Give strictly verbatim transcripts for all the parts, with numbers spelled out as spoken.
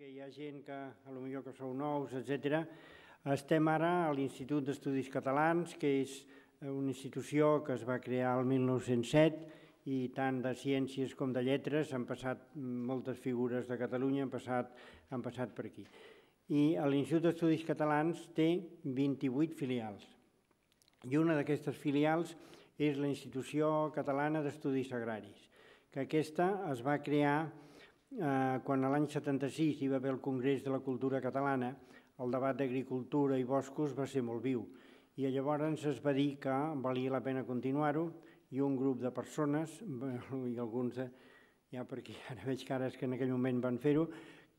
perquè hi ha gent que, potser que sou nous, etcètera. Estem ara a l'Institut d'Estudis Catalans, que és una institució que es va crear el mil nou-cents set i tant de ciències com de lletres han passat moltes figures de Catalunya, han passat, han passat per aquí. I l'Institut d'Estudis Catalans té vint-i-vuit filials. I una d'aquestes filials és la Institució Catalana d'Estudis Agraris, que aquesta es va crear eh, quan l'any setanta-sis hi va haver el Congrés de la Cultura Catalana. El debat d'agricultura i boscos va ser molt viu i llavors es va dir que valia la pena continuar-ho i un grup de persones, i alguns de, ja perquè ara veig cares que en aquell moment van fer-ho,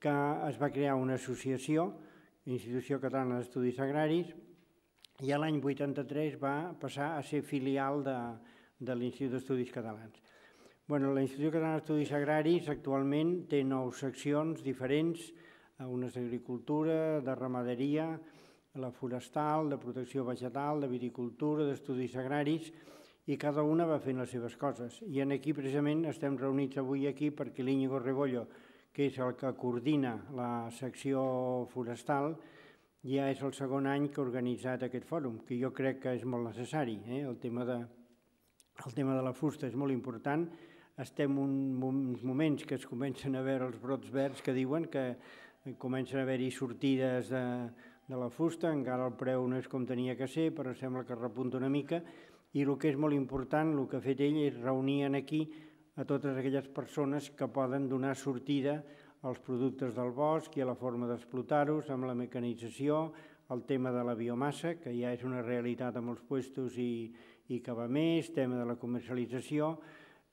que es va crear una associació, Institució Catalana d'Estudis Agraris, i l'any vuitanta-tres va passar a ser filial de, de l'Institut d'Estudis Catalans. Bueno, la Institució Catalana d'Estudis Agraris actualment té nou seccions diferents, unes d'agricultura, de ramaderia, la forestal, de protecció vegetal, de viticultura, d'estudis agraris, i cada una va fent les seves coses. I aquí precisament estem reunits avui aquí perquè l'Íñigo Rebollo, que és el que coordina la secció forestal, ja és el segon any que ha organitzat aquest fòrum, que jo crec que és molt necessari. El tema de la fusta és molt important. Estem en uns moments que es comencen a veure els brots verds que diuen que comencen a haver-hi sortides de la fusta, encara el preu no és com tenia que ser, però sembla que repunta una mica, i el que és molt important, el que ha fet ell és reunir aquí a totes aquelles persones que poden donar sortida als productes del bosc i a la forma d'explotar-los, amb la mecanització, el tema de la biomassa, que ja és una realitat a molts puestos i que va més, tema de la comercialització.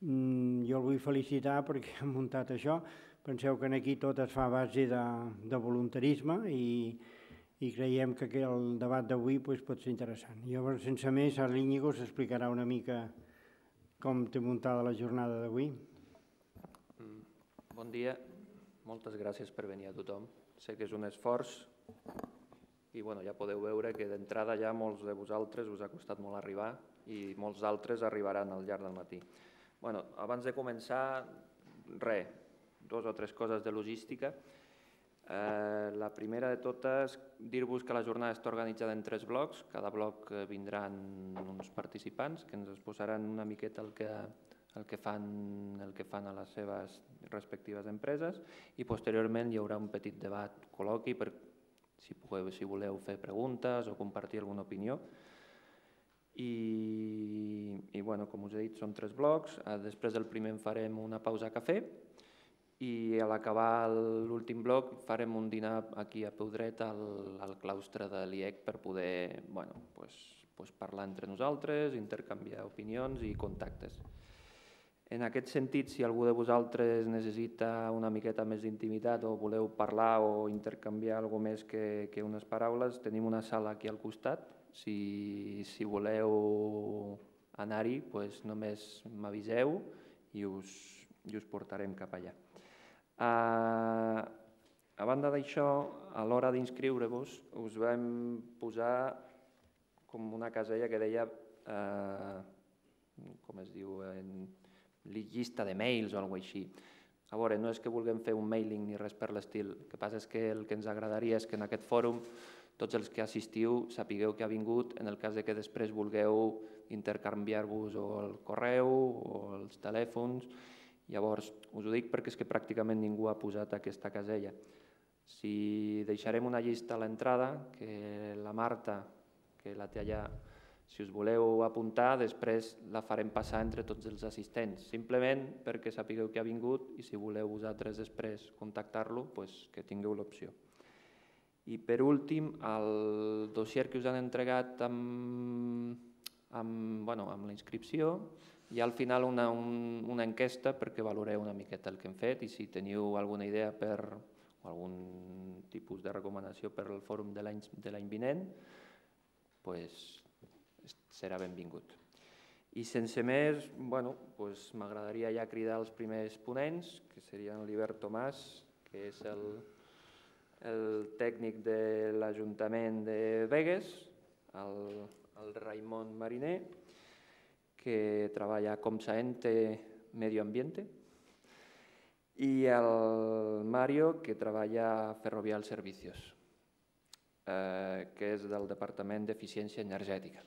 Jo el vull felicitar perquè han muntat això. Penseu que aquí tot es fa a base de voluntarisme i creiem que el debat d'avui pot ser interessant. Llavors, sense més, ara l'Íñigo s'explicarà una mica com té muntada la jornada d'avui. Bon dia, moltes gràcies per venir a tothom. Sé que és un esforç i ja podeu veure que d'entrada ja molts de vosaltres us ha costat molt arribar i molts altres arribaran al llarg del matí. Abans de començar, res, dues o tres coses de logística. La primera de totes, dir-vos que la jornada està organitzada en tres blocs. Cada bloc vindran uns participants que ens exposaran una miqueta el que fan a les seves respectives empreses i posteriorment hi haurà un petit debat, col·loqui, per si voleu fer preguntes o compartir alguna opinió. I, com us he dit, són tres blocs. Després del primer en farem una pausa a cafè i a l'acabar l'últim bloc farem un dinar aquí a peu dret al claustre de l'I E C per poder parlar entre nosaltres, intercanviar opinions i contactes. En aquest sentit, si algú de vosaltres necessita una miqueta més d'intimitat o voleu parlar o intercanviar alguna més que unes paraules, tenim una sala aquí al costat. Si voleu anar-hi, només m'aviseu i us portarem cap allà. A banda d'això, a l'hora d'inscriure-vos, us vam posar com una casella que deia, com es diu, llista de mails o alguna cosa així. A veure, no és que vulguem fer un mailing ni res per l'estil, el que passa és que el que ens agradaria és que en aquest fòrum tots els que assistiu sapigueu que ha vingut en el cas que després vulgueu intercanviar-vos o el correu o els telèfons. Llavors, us ho dic perquè és que pràcticament ningú ha posat aquesta casella. Si deixarem una llista a l'entrada, que la Marta, que la té allà, si us voleu apuntar, després la farem passar entre tots els assistents, simplement perquè sapigueu que ha vingut i si voleu vosaltres després contactar-lo, que tingueu l'opció. I per últim, el dossier que us han entregat amb la inscripció, hi ha al final una enquesta perquè valoreu una miqueta el que hem fet i si teniu alguna idea o algun tipus de recomanació per al fòrum de l'any vinent, serà benvingut. I sense més, m'agradaria ja cridar els primers ponents, que serien l'Hibert Tomàs, que és el tècnic de l'Ajuntament de Begues, el Raimon Mariner, que treballa com Saente Medio Ambiente, i el Mario, que treballa a Ferrovial Servicios, que és del Departament d'Eficiència Energètica.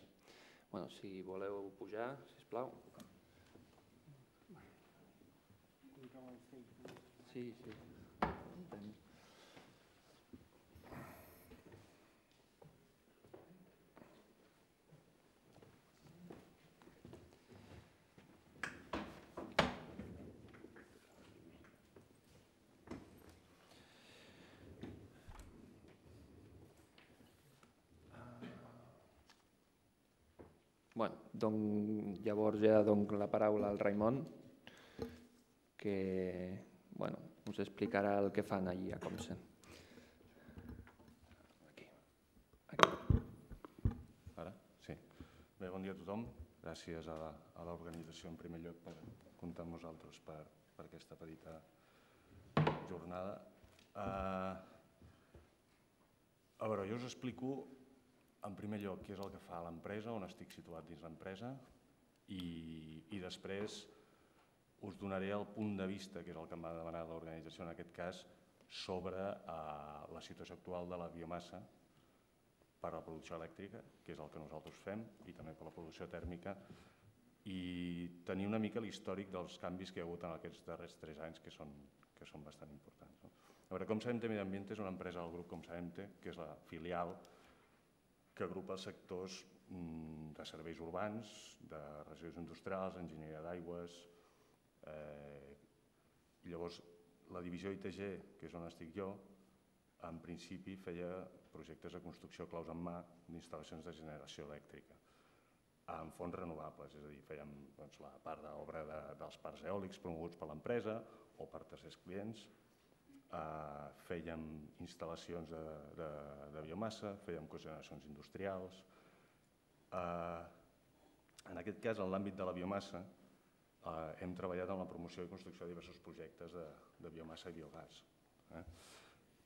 Bueno, si voleu pujar, sisplau. Sí, sí. Bueno, donc, llavors ja dono la paraula al Raimon, que bueno, us explicarà el que fan allí a Comsen. Aquí. Aquí. Ara? Sí. Bé, bon dia a tothom. Gràcies a, a l'organització en primer lloc per comptar amb nosaltres per, per aquesta petita jornada. Uh, a veure, jo us explico en primer lloc què és el que fa l'empresa, on estic situat dins l'empresa i, i després us donaré el punt de vista, que és el que em va demanar l'organització en aquest cas, sobre uh, la situació actual de la biomassa per a la producció elèctrica, que és el que nosaltres fem, i també per la producció tèrmica, i tenir una mica l'històric dels canvis que hi ha hagut en aquests darrers tres anys, que són, que són bastant importants. No? A veure, Comsabente Medi Ambiente és una empresa del grup Comsabente, que és la filial que agrupa els sectors de serveis urbans, de residus industrials, enginyeria d'aigües. Eh, llavors, la divisió I T G, que és on estic jo, en principi feia projectes de construcció claus en mà d'instal·lacions de generació elèctrica amb fonts renovables, és a dir, fèiem doncs, la part d'obra de, dels parcs eòlics promoguts per l'empresa o per tercers clients, eh, fèiem instal·lacions de, de, de biomassa, fèiem cogeneracions industrials. Eh, en aquest cas, en l'àmbit de la biomassa, eh, hem treballat en la promoció i construcció de diversos projectes de, de biomassa i biogàs. Eh?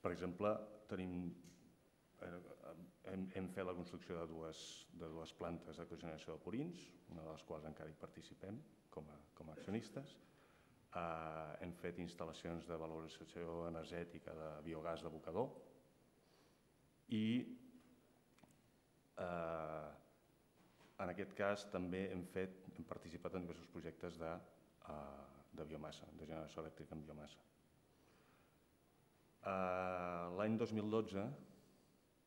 Per exemple, tenim, hem, hem fet la construcció de dues, de dues plantes de cogeneració de purins, una de les quals encara hi participem com a, com a accionistes. Uh, hem fet instal·lacions de valorització energètica de biogàs d'abocador i uh, en aquest cas també hem, fet, hem participat en diversos projectes de, uh, de biomassa, de generació elèctrica en biomassa. Uh, L'any dos mil dotze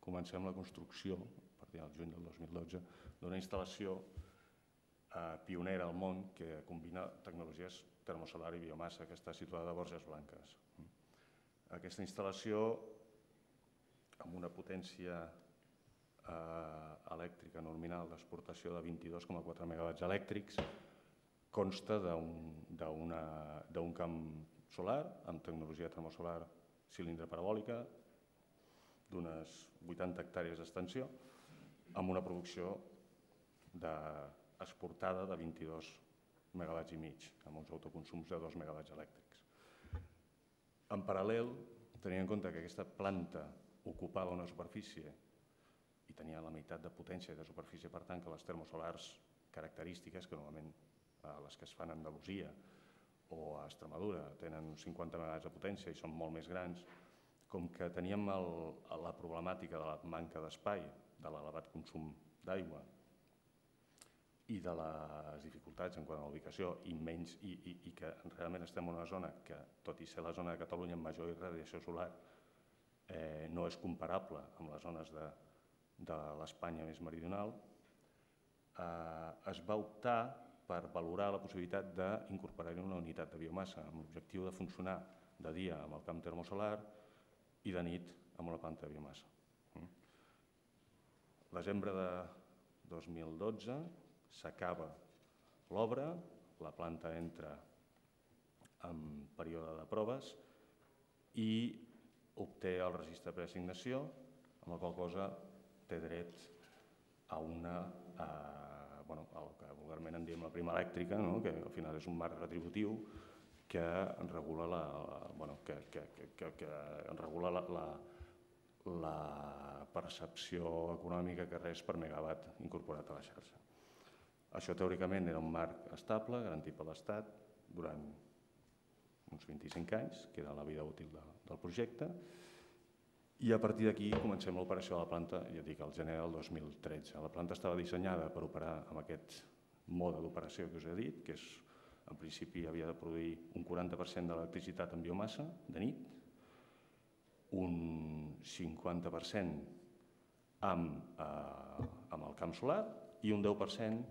comencem la construcció, a partir del juny del dos mil dotze, d'una instal·lació uh, pionera al món que combina tecnologies termosolar i biomassa, que està situada a Borges Blanques. Aquesta instal·lació, amb una potència eh, elèctrica nominal d'exportació de vint-i-dos coma quatre megawatts elèctrics, consta d'un camp solar amb tecnologia termosolar cilindre parabòlica d'unes vuitanta hectàrees d'extensió, amb una producció de, exportada de vint-i-dos megawatts i mig, amb uns autoconsums de dos megawatts elèctrics. En paral·lel, tenint en compte que aquesta planta ocupava una superfície i tenia la meitat de potència de superfície, per tant, que les termosolars característiques, que normalment les que es fan a Andalusia o a Extremadura tenen cinquanta megawatts de potència i són molt més grans, com que teníem el, la problemàtica de la manca d'espai, de l'elevat consum d'aigua i de les dificultats en quant a la ubicació i, menys, i, i, i que realment estem en una zona que, tot i ser la zona de Catalunya amb major irradiació solar, eh, no és comparable amb les zones de, de l'Espanya més meridional, eh, es va optar per valorar la possibilitat d'incorporar-hi una unitat de biomassa amb l'objectiu de funcionar de dia amb el camp termosolar i de nit amb una planta de biomassa. Desembre de dos mil dotze s'acaba l'obra, la planta entra en període de proves i obté el registre de preassignació, amb la qual cosa té dret a una, a, bueno, el que vulgarment en diem la prima elèctrica, no? Que al final és un marc retributiu que regula la, bueno, que, que, que, que regula la, la, la percepció econòmica que res per megawatt incorporat a la xarxa. Això teòricament era un marc estable, garantit per l'Estat, durant uns vint-i-cinc anys, que era la vida útil del projecte, i a partir d'aquí comencem l'operació de la planta, ja dic, al gener del dos mil tretze. La planta estava dissenyada per operar amb aquest mode d'operació que us he dit, que és, en principi havia de produir un quaranta per cent de l'electricitat en biomassa de nit, un cinquanta per cent amb, eh, amb el camp solar i un deu per cent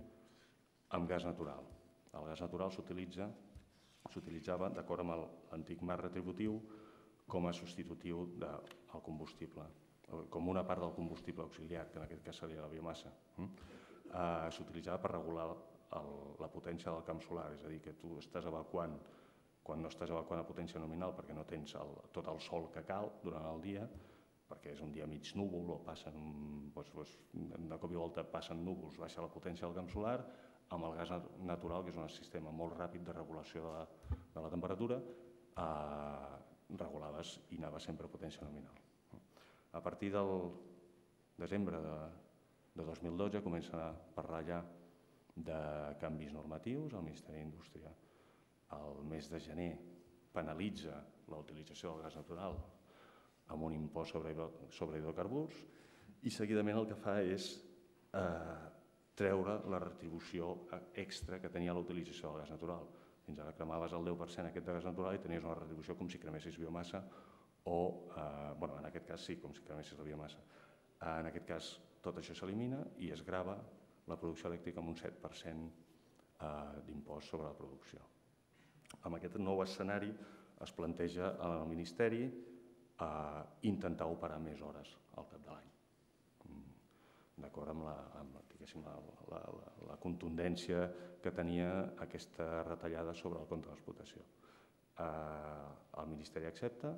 amb gas natural. El gas natural s'utilitza s'utilitzava d'acord amb l'antic marc retributiu com a substitutiu del combustible, com una part del combustible auxiliar, que en aquest cas seria la biomassa. Eh, S'utilitzava per regular el, la potència del camp solar, és a dir, que tu estàs evacuant, quan no estàs evacuant a potència nominal perquè no tens el, tot el sol que cal durant el dia, perquè és un dia mig núvol o passen, doncs, doncs, de cop i volta passen núvols, baixa la potència del camp solar, amb el gas natural, que és un sistema molt ràpid de regulació de la, de la temperatura, eh, regulaves i anava sempre a potència nominal. A partir del desembre de, de dos mil dotze comença a parlar ja de canvis normatius. El Ministeri d'Indústria el mes de gener penalitza la utilització del gas natural amb un impost sobre, sobre hidrocarburs i seguidament el que fa és eh, treure la retribució extra que tenia la utilització del gas natural. Fins ara cremaves el deu per cent aquest de gas natural i tenies una retribució com si cremessis biomassa o, eh, bueno, en aquest cas sí, com si cremessis la biomassa. Eh, en aquest cas tot això s'elimina i es grava la producció elèctrica amb un set per cent eh, d'impost sobre la producció. Amb aquest nou escenari es planteja al Ministeri eh, intentar operar més hores al cap de l'any, d'acord amb, la, amb la, la, la, la contundència que tenia aquesta retallada sobre el compte d'explotació. Eh, el Ministeri accepta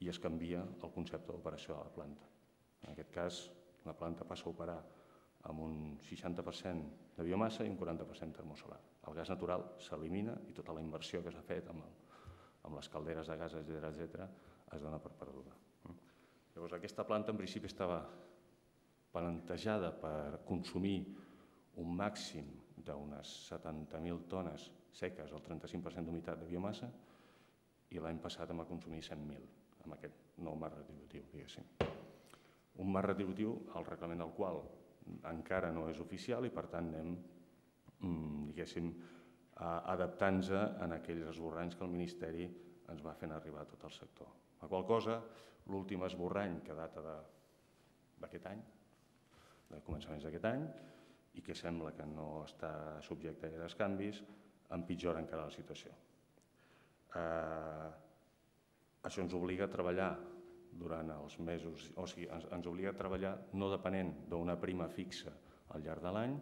i es canvia el concepte d'operació de la planta. En aquest cas, la planta passa a operar amb un seixanta per cent de biomassa i un quaranta per cent termosolar. El gas natural s'elimina i tota la inversió que s'ha fet amb, el, amb les calderes de gas, etcètera, etcètera, es dona per perduda. Llavors, aquesta planta en principi estava plantejada per consumir un màxim d'unes setanta mil tones seques, el trenta-cinc per cent d'humitat de biomassa, i l'any passat hem a consumir cent mil, amb aquest nou marc retributiu, diguéssim. Un marc retributiu, el reglament del qual encara no és oficial i per tant anem, diguéssim, adaptant-nos en aquells esborranys que el Ministeri ens va fent arribar a tot el sector. La qual cosa, l'últim esborrany que data d'aquest any, de començaments d'aquest any, i que sembla que no està subjecte a gaires canvis, empitjora encara la situació. Eh, això ens obliga a treballar durant els mesos, o sigui, ens, ens obliga a treballar no depenent d'una prima fixa al llarg de l'any,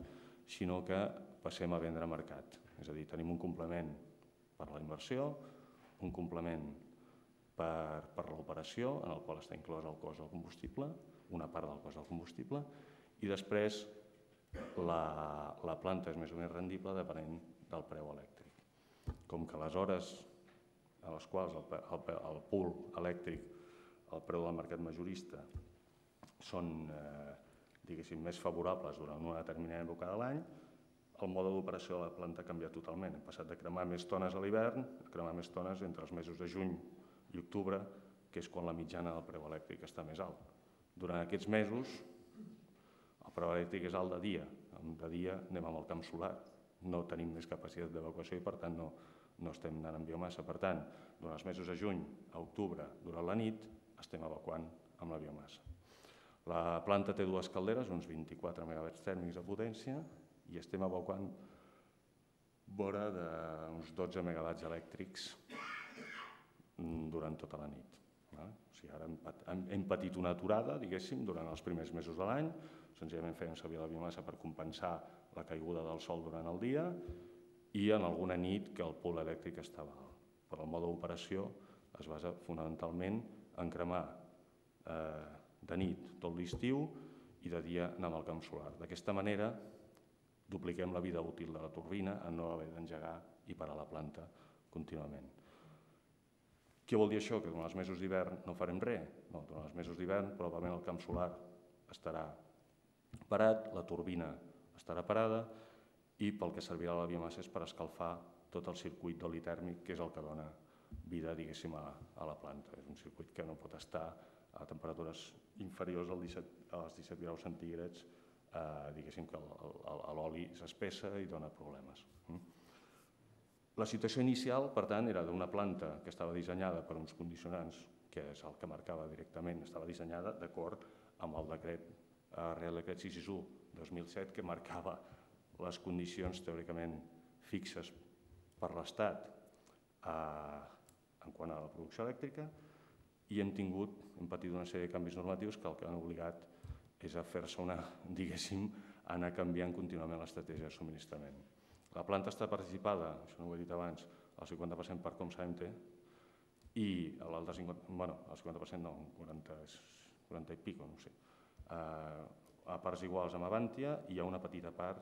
sinó que passem a vendre a mercat. És a dir, tenim un complement per la inversió, un complement per, per l'operació, en el qual està inclòs el cost del combustible, una part del cost del combustible, i després la, la planta és més o menys rendible depenent del preu elèctric. Com que les hores a les quals el, el, el pool elèctric, el preu del mercat majorista, són eh, diguéssim, més favorables durant una determinada època de l'any, el mode d'operació de la planta ha canviat totalment. Hem passat de cremar més tones a l'hivern a cremar més tones entre els mesos de juny i octubre, que és quan la mitjana del preu elèctric està més alt. Durant aquests mesos, el preu elèctric és alt de dia. De dia anem amb el camp solar. No tenim més capacitat d'evacuació i, per tant, no, no estem anant amb biomassa. Per tant, durant els mesos de juny a octubre, durant la nit, estem evacuant amb la biomassa. La planta té dues calderes, uns vint-i-quatre megawatts tèrmics de potència, i estem evacuant vora d'uns dotze megawatts elèctrics durant tota la nit. O sigui, ara hem patit una aturada, diguéssim, durant els primers mesos de l'any, senzillament fèiem servir la biomassa per compensar la caiguda del sol durant el dia i en alguna nit que el pol elèctric estava alt. Però el mode d'operació es basa fonamentalment en cremar eh, de nit tot l'estiu i de dia anar amb el camp solar. D'aquesta manera dupliquem la vida útil de la turbina en no haver d'engegar i parar la planta contínuament. Què vol dir això? Que durant els mesos d'hivern no farem res? No, durant els mesos d'hivern probablement el camp solar estarà parat, la turbina estarà parada i pel que servirà la biomassa és per escalfar tot el circuit d'oli tèrmic, que és el que dona vida, diguéssim, a la planta. És un circuit que no pot estar a temperatures inferiors als disset graus centígrads, diguéssim que l'oli s'espessa i dona problemes. La situació inicial, per tant, era d'una planta que estava dissenyada per uns condicionants, que és el que marcava directament, estava dissenyada d'acord amb el decret, Real Decret sis sis u dos mil set, que marcava les condicions teòricament fixes per l'Estat en quant a la producció elèctrica, i hem tingut, hem patit una sèrie de canvis normatius que el que han obligat és a fer-se una, diguéssim, anar canviant contínuament l'estratègia de subministrament. La planta està participada, això no ho he dit abans, al cinquanta per cent per Comsa-Emte, i l'altre cinquanta per cent, bueno, el cinquanta per cent no, quaranta i pico, no sé, a parts iguals amb Avantia, i hi ha una petita part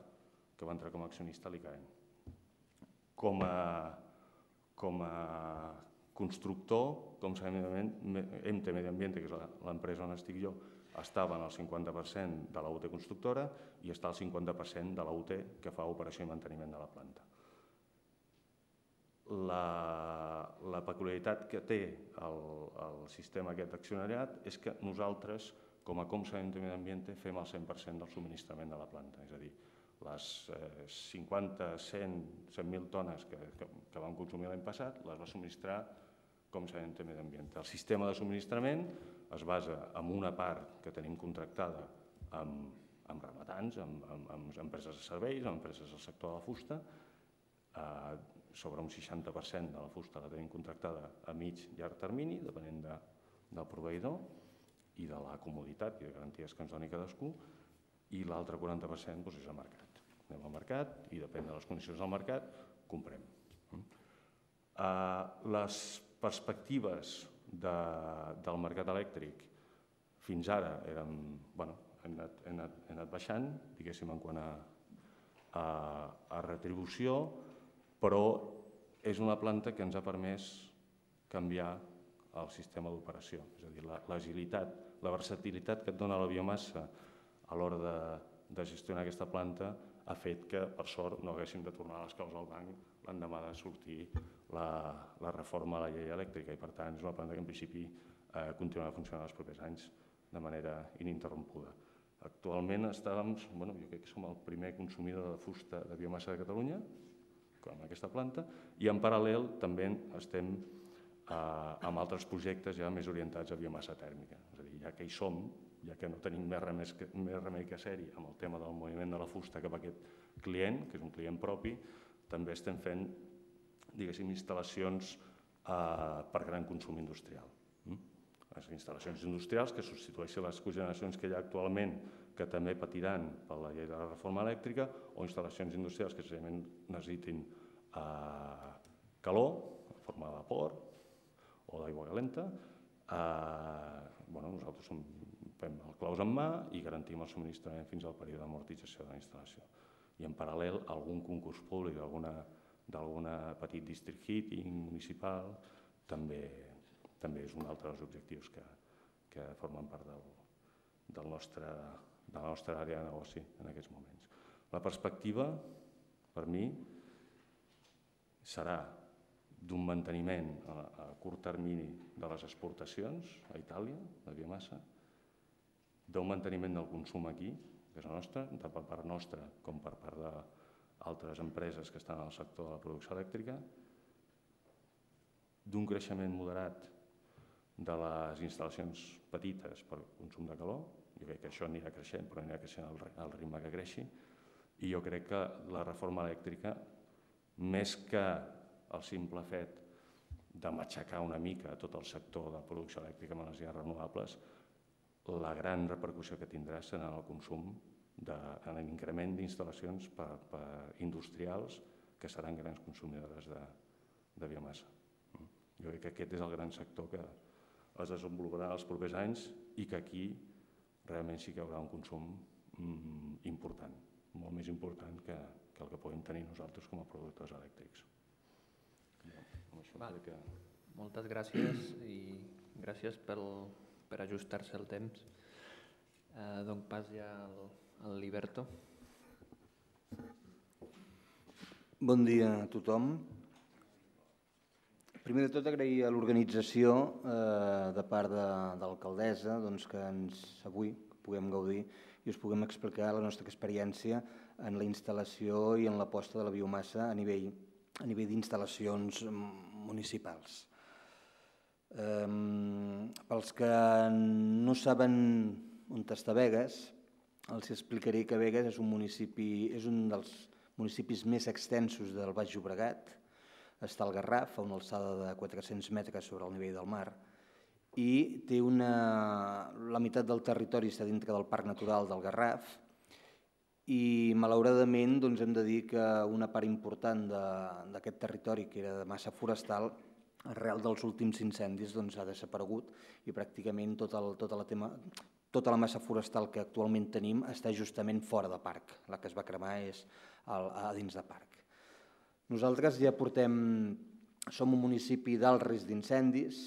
que va entrar com a accionista a l'I C A E N. Com a, com a constructor, com sabem, Emte Medi Ambiente, que és l'empresa on estic jo, estava en el cinquanta per cent de la U T constructora i està al cinquanta per cent de la U T que fa operació i manteniment de la planta. La peculiaritat que té el sistema aquest accionariat és que nosaltres, com a Comsa Emte Medi Ambiente, fem el cent per cent del subministrament de la planta, és a dir, les cinquanta, cent, cent mil tones que vam consumir l'any passat les va subministrar Comsa Emte Medi Ambiente. El sistema de subministrament es basa en una part que tenim contractada amb rematants, amb empreses de serveis, amb empreses del sector de la fusta. Sobre un seixanta per cent de la fusta la tenim contractada a mig i llarg termini, depenent del proveïdor i de la comoditat i de garanties que ens doni cadascú, i l'altre quaranta per cent és al mercat. Anem al mercat i depèn de les condicions del mercat, comprem. Les perspectives del mercat elèctric fins ara hem anat baixant, diguéssim, en quant a retribució, però és una planta que ens ha permès canviar el sistema d'operació, és a dir, l'agilitat, la versatilitat que et dona la biomassa a l'hora de gestionar aquesta planta ha fet que, per sort, no haguéssim de tornar les claus al banc l'endemà de sortir la reforma a la llei elèctrica, i per tant és una planta que en principi continuarà funcionant els propers anys de manera ininterrompuda. Actualment estàvem, jo crec que som el primer consumidor de fusta de biomassa de Catalunya, amb aquesta planta, i en paral·lel també estem amb altres projectes ja més orientats a biomassa tèrmica. És a dir, ja que hi som, ja que no tenim més remei que ser-hi amb el tema del moviment de la fusta cap a aquest client, que és un client propi, també estem fent, diguéssim, instal·lacions per gran consum industrial. Les instal·lacions industrials que substitueixen les cogeneracions que hi ha actualment, que també patiran per la llei de la reforma elèctrica, o instal·lacions industrials que senzillament necessitin calor, en forma de vapor o d'aigua calenta. Nosaltres fem el claus en mà i garantim el subministrament fins al període d'amortització de la instal·lació. I en paral·lel, algun concurs públic d'algun petit district heating municipal també és un altre dels objectius que formen part de la nostra àrea de negoci en aquests moments. La perspectiva, per mi, serà d'un manteniment a curt termini de les exportacions a Itàlia, de biomassa, d'un manteniment del consum aquí, que és el nostre, tant per part nostra com per part d'altres empreses que estan al sector de la producció elèctrica, d'un creixement moderat de les instal·lacions petites per consum de calor. Jo crec que això anirà creixent, però anirà creixent al ritme que creixi, i jo crec que la reforma elèctrica, més que el simple fet de matxacar una mica tot el sector de producció elèctrica amb energies renovables, la gran repercussió que tindrà serà en el consum, en l'increment d'instal·lacions industrials que seran grans consumidores de biomassa. Jo crec que aquest és el gran sector que es desenvoluparà els propers anys i que aquí realment sí que hi haurà un consum important, molt més important que el que podem tenir nosaltres com a productors elèctrics. Moltes gràcies i gràcies per ajustar-se el temps. Dono pas ja al Liberto. Bon dia a tothom. Primer de tot, agrair a l'organització de part de l'alcaldessa que avui puguem gaudir i us puguem explicar la nostra experiència en la instal·lació i en l'aposta de la biomassa a nivell d'instal·lacions municipals. Pels que no saben on està Begues, els explicaré que Begues és un municipi, és un dels municipis més extensos del Baix Llobregat. Està al Garraf, a una alçada de quatre-cents metres sobre el nivell del mar, i té una... la meitat del territori està dintre del Parc Natural del Garraf i, malauradament, hem de dir que una part important d'aquest territori, que era de massa forestal, arrel dels últims incendis ha desaparegut i pràcticament tota la massa forestal que actualment tenim està justament fora de parc. La que es va cremar és a dins de parc. Nosaltres ja portem... som un municipi d'alt risc d'incendis.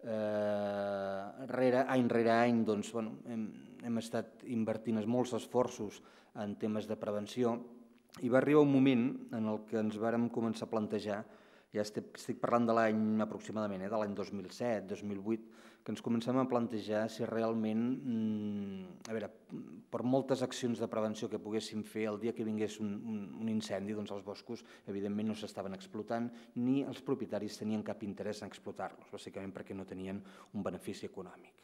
Any rere any hem estat invertint molts esforços en temes de prevenció i va arribar un moment en el que ens vàrem començar a plantejar, ja estic parlant de l'any aproximadament, de l'any dos mil set, dos mil vuit, que ens comencem a plantejar si realment, a veure, per moltes accions de prevenció que poguéssim fer, el dia que vingués un incendi, doncs els boscos evidentment no s'estaven explotant ni els propietaris tenien cap interès en explotar-los, bàsicament perquè no tenien un benefici econòmic.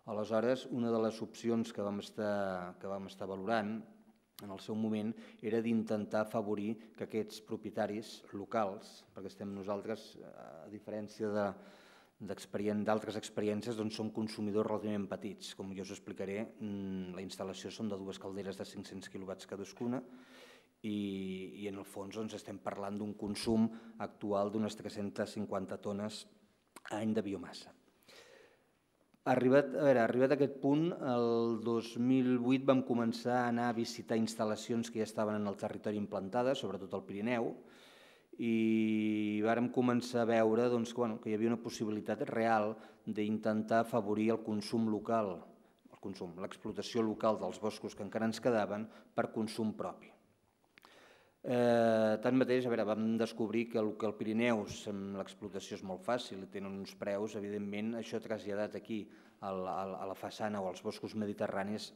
Aleshores, una de les opcions que vam estar valorant en el seu moment era d'intentar afavorir que aquests propietaris locals, perquè estem nosaltres, a diferència d'altres experiències, som consumidors relativament petits. Com jo us explicaré, la instal·lació són de dues calderes de cinc-cents quilowatts cadascuna i en el fons estem parlant d'un consum actual d'unes tres-centes cinquanta tones a any de biomassa. Arribat a aquest punt, el dos mil vuit vam començar a anar a visitar instal·lacions que ja estaven en el territori implantades, sobretot al Pirineu, i vàrem començar a veure que hi havia una possibilitat real d'intentar afavorir el consum local, l'explotació local dels boscos que encara ens quedaven per consum propi. Tanmateix, vam descobrir que el Pirineu l'explotació és molt fàcil i tenen uns preus, evidentment, això traslladat aquí a la façana o als boscos mediterranis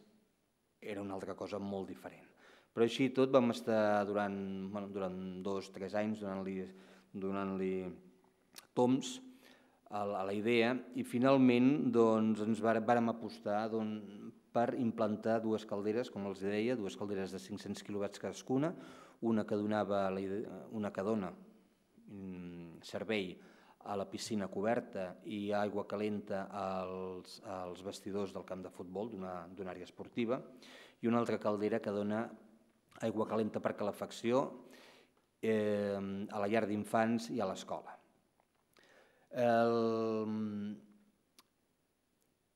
era una altra cosa molt diferent. Però així i tot vam estar durant dos o tres anys donant-li toms a la idea i finalment ens vàrem apostar per implantar dues calderes, com els deia, dues calderes de cinc-cents quilowatts cadascuna, una que dona servei a la piscina coberta i aigua calenta als vestidors del camp de futbol d'una àrea esportiva i una altra caldera que dona aigua calenta per calefacció a la llar d'infants i a l'escola.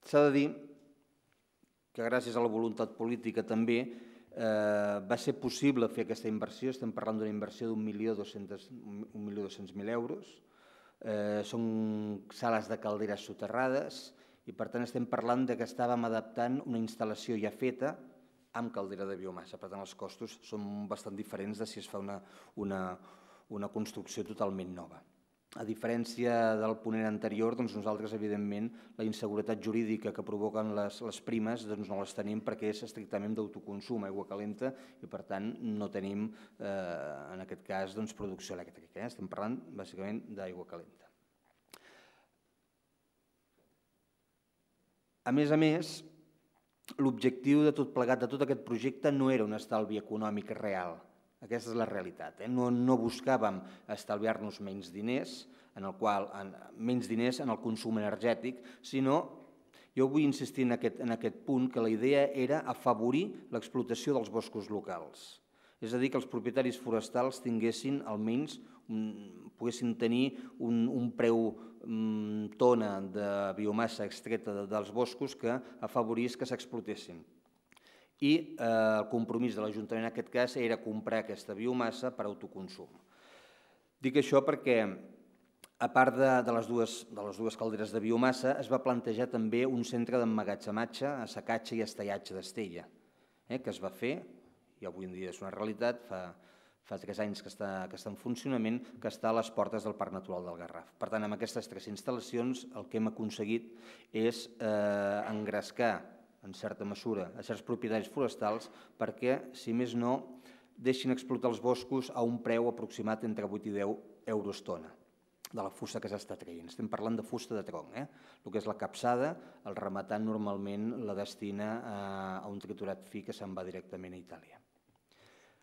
S'ha de dir que gràcies a la voluntat política també va ser possible fer aquesta inversió, estem parlant d'una inversió d'un milió dos-cents mil euros, són sales de calderes soterrades i per tant estem parlant que estàvem adaptant una instal·lació ja feta amb caldera de biomassa, per tant els costos són bastant diferents de si es fa una construcció totalment nova. A diferència del ponent anterior, nosaltres, evidentment, la inseguretat jurídica que provoquen les primes no les tenim perquè és estrictament d'autoconsum, aigua calenta, i per tant no tenim, en aquest cas, producció elèctrica. Estem parlant, bàsicament, d'aigua calenta. A més a més, l'objectiu de tot plegat, de tot aquest projecte, no era un estalvi econòmic real. Aquesta és la realitat. No buscàvem estalviar-nos menys diners, menys diners en el consum energètic, sinó, jo vull insistir en aquest punt, que la idea era afavorir l'explotació dels boscos locals. És a dir, que els propietaris forestals tinguessin, almenys, poguessin tenir un preu tona de biomassa extreta dels boscos que afavorís que s'explotessin. I el compromís de l'Ajuntament en aquest cas era comprar aquesta biomassa per autoconsum. Dic això perquè, a part de les dues calderes de biomassa, es va plantejar també un centre d'emmagatzematge, assecatge i estellatge d'Estella, que es va fer, i avui en dia és una realitat, fa tres anys que està, que està en funcionament, que està a les portes del Parc Natural del Garraf. Per tant, amb aquestes tres instal·lacions el que hem aconseguit és eh, engrescar, en certa mesura, a certs propietaris forestals perquè, si més no, deixin explotar els boscos a un preu aproximat entre vuit i deu euros tona de la fusta que s'està traient. Estem parlant de fusta de tronc. Eh? El que és la capçada, el rematant normalment la destina a, a un triturat fi que se'n va directament a Itàlia.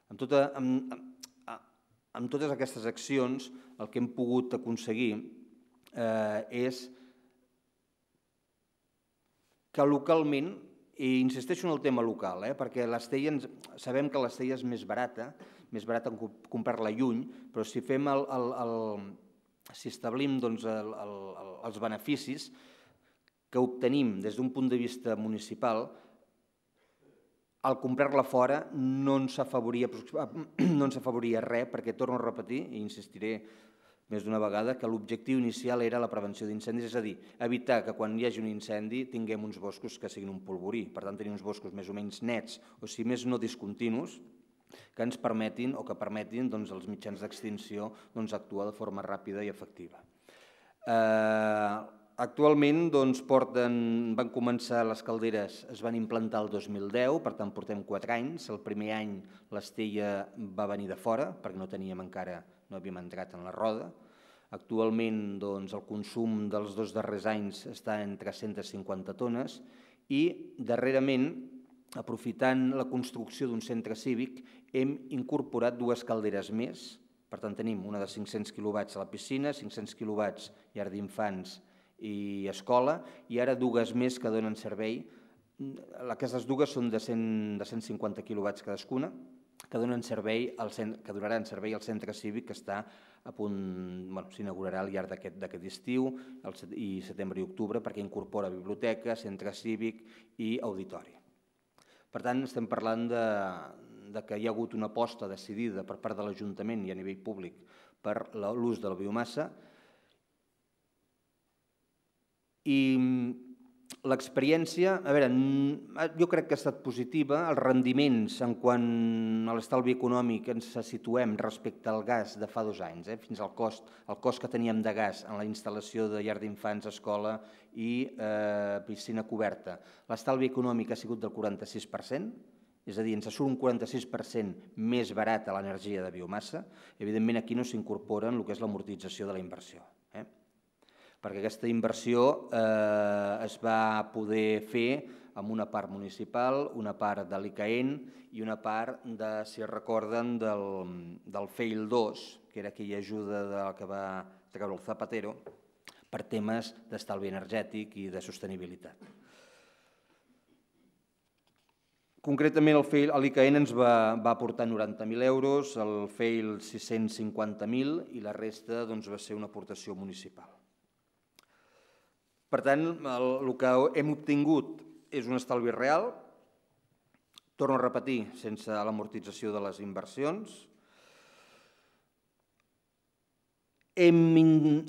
Amb, tota, amb, amb, amb totes aquestes accions, el que hem pogut aconseguir eh, és que localment, i insisteixo en el tema local, eh, perquè l'Estella, sabem que l'Estella és més barata, més barata comprar-la lluny, però si fem el, el, el, si establim doncs, el, el, els beneficis que obtenim des d'un punt de vista municipal, al comprar-la fora no ens afavoria, no ens afavoria res, perquè torno a repetir, i insistiré més d'una vegada, que l'objectiu inicial era la prevenció d'incendis, és a dir, evitar que quan hi hagi un incendi tinguem uns boscos que siguin un polvorí, per tant tenir uns boscos més o menys nets, o si més no discontinus, que ens permetin o que permetin doncs, els mitjans d'extinció doncs, actuar de forma ràpida i efectiva. Eh, actualment doncs, porten, van començar les calderes, es van implantar el dos mil deu, per tant portem quatre anys. El primer any l'Estella va venir de fora, perquè no teníem encara, no havíem entrat en la roda. Actualment doncs, el consum dels dos darrers anys està en tres-centes cinquanta tones i darrerament, aprofitant la construcció d'un centre cívic, hem incorporat dues calderes més. Per tant, tenim una de cinc-cents quilowatts a la piscina, cinc-cents quilowatts llar d'infants i escola, i ara dues més que donen servei. Aquestes dues són de cent cinquanta quilowatts cadascuna, que donen servei al centre, que donaran servei al centre cívic que està a punt, bueno, s'inaugurarà al llarg d'aquest estiu i setembre i octubre, perquè incorpora biblioteca, centre cívic i auditori. Per tant, estem parlant de, de que hi ha hagut una aposta decidida per part de l'Ajuntament i a nivell públic per l'ús de la biomassa. I l'experiència, a veure, jo crec que ha estat positiva. Els rendiments en quant a l'estalvi econòmic ens situem respecte al gas de fa dos anys, eh, fins al cost, el cost que teníem de gas en la instal·lació de llar d'infants, escola i eh, piscina coberta. L'estalvi econòmic ha sigut del quaranta-sis per cent, és a dir, ens surt un quaranta-sis per cent més barat a l'energia de biomassa. Evidentment, aquí no s'incorpora el que és l'amortització de la inversió, eh? perquè aquesta inversió eh, es va poder fer amb una part municipal, una part de l'I C A E N i una part, de, si es recorden, del, del F E I L dos, que era aquella ajuda de, que va treure el Zapatero per temes d'estalvi energètic i de sostenibilitat. Concretament, l'I C A E N ens va, va aportar noranta mil euros, el F E I L sis-cents cinquanta mil i la resta doncs, va ser una aportació municipal. Per tant, el que hem obtingut és un estalvi real, torno a repetir, sense l'amortització de les inversions. Hem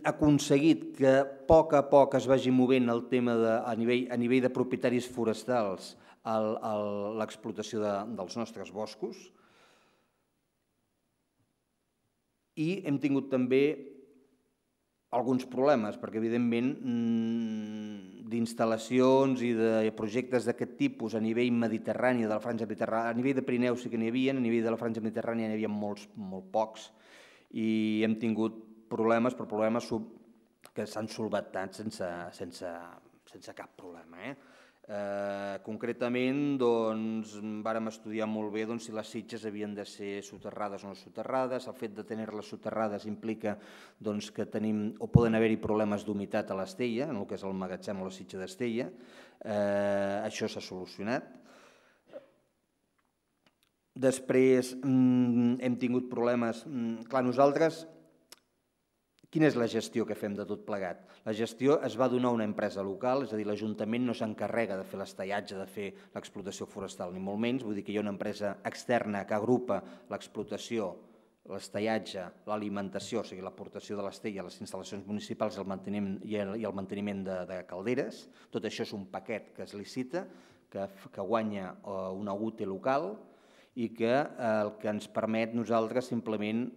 aconseguit que a poc a poc es vagi movent el tema de, a, nivell, a nivell de propietaris forestals l'explotació de, dels nostres boscos i hem tingut també alguns problemes, perquè evidentment d'instal·lacions i de projectes d'aquest tipus a nivell mediterrani, de la franja mediterrània, a nivell de Pirineu sí que n'hi havia, a nivell de la franja mediterrània n'hi havia molts, molt pocs, i hem tingut problemes, però problemes que s'han solventat sense, sense, sense cap problema. Eh? Eh, concretament, doncs, vàrem estudiar molt bé doncs, si les sitges havien de ser soterrades o no soterrades. El fet de tenir-les soterrades implica doncs, que tenim, o poden haver-hi problemes d'humitat a l'Estella, en el que és el magatzem o la sitja d'Estella. Eh, això s'ha solucionat. Després hem tingut problemes. Clar, nosaltres, quina és la gestió que fem de tot plegat? La gestió es va donar a una empresa local, és a dir, l'Ajuntament no s'encarrega de fer l'estallatge, de fer l'explotació forestal, ni molt menys. Vull dir que hi ha una empresa externa que agrupa l'explotació, l'estallatge, l'alimentació, o sigui, l'aportació de l'estella a les instal·lacions municipals i el manteniment, i el, i el manteniment de, de calderes. Tot això és un paquet que es licita, que, que guanya una U T E local, i que el que ens permet nosaltres simplement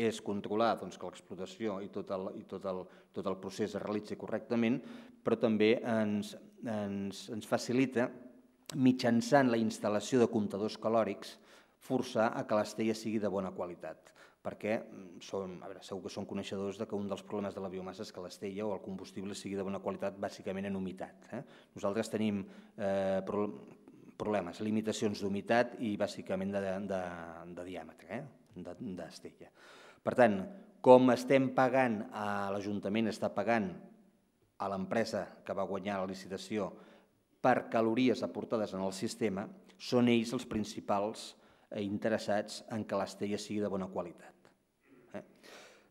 és controlar que l'explotació i tot el procés es realitzi correctament, però també ens facilita, mitjançant la instal·lació de comptadors calòrics, forçar a que l'estella sigui de bona qualitat, perquè segur que són coneixedors que un dels problemes de la biomassa és que l'estella o el combustible sigui de bona qualitat bàsicament en humitat. Nosaltres tenim problemes, limitacions d'humitat i bàsicament de diàmetre d'estella. Per tant, com estem pagant, l'Ajuntament està pagant a l'empresa que va guanyar la licitació per calories aportades en el sistema, són ells els principals interessats en que l'estella sigui de bona qualitat.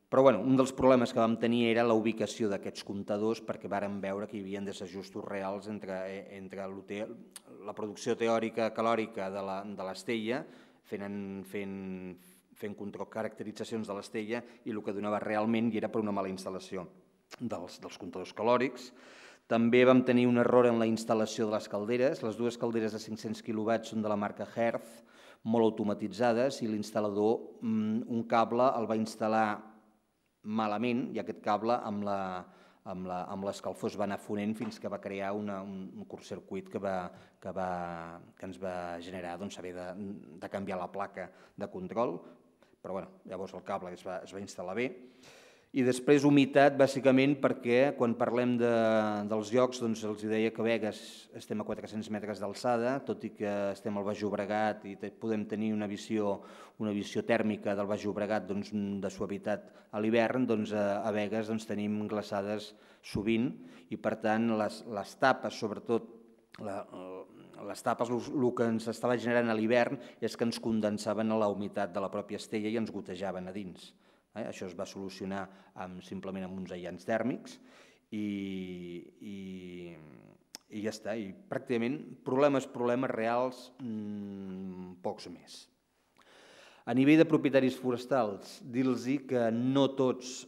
Però un dels problemes que vam tenir era la ubicació d'aquests comptadors, perquè vàrem veure que hi havia desajustos reals entre la producció teòrica calòrica de l'estella, fent control caracteritzacions de l'estella, i el que donava realment era per una mala instal·lació dels comptadors calòrics. També vam tenir un error en la instal·lació de les calderes. Les dues calderes de cinc-cents quilowatts són de la marca Hertz, molt automatitzades, i l'instal·lador un cable el va instal·lar malament i aquest cable amb l'escalfor es va anar fonent fins que va crear un curtcircuit que ens va generar haver de canviar la placa de control, però llavors el cable es va instal·lar bé. I després humitat, bàsicament, perquè quan parlem dels llocs els deia que a Begues estem a quatre-cents metres d'alçada, tot i que estem al Baix Llobregat i podem tenir una visió tèrmica del Baix Llobregat de suavitat a l'hivern, a Begues tenim glaçades sovint i, per tant, les tapes, sobretot les tapes, el que ens estava generant a l'hivern és que ens condensaven a la humitat de la pròpia estella i ens gotejaven a dins. Això es va solucionar simplement amb uns aïllants tèrmics i ja està. I pràcticament problemes, problemes reals, pocs més. A nivell de propietaris forestals, dir-los que no tots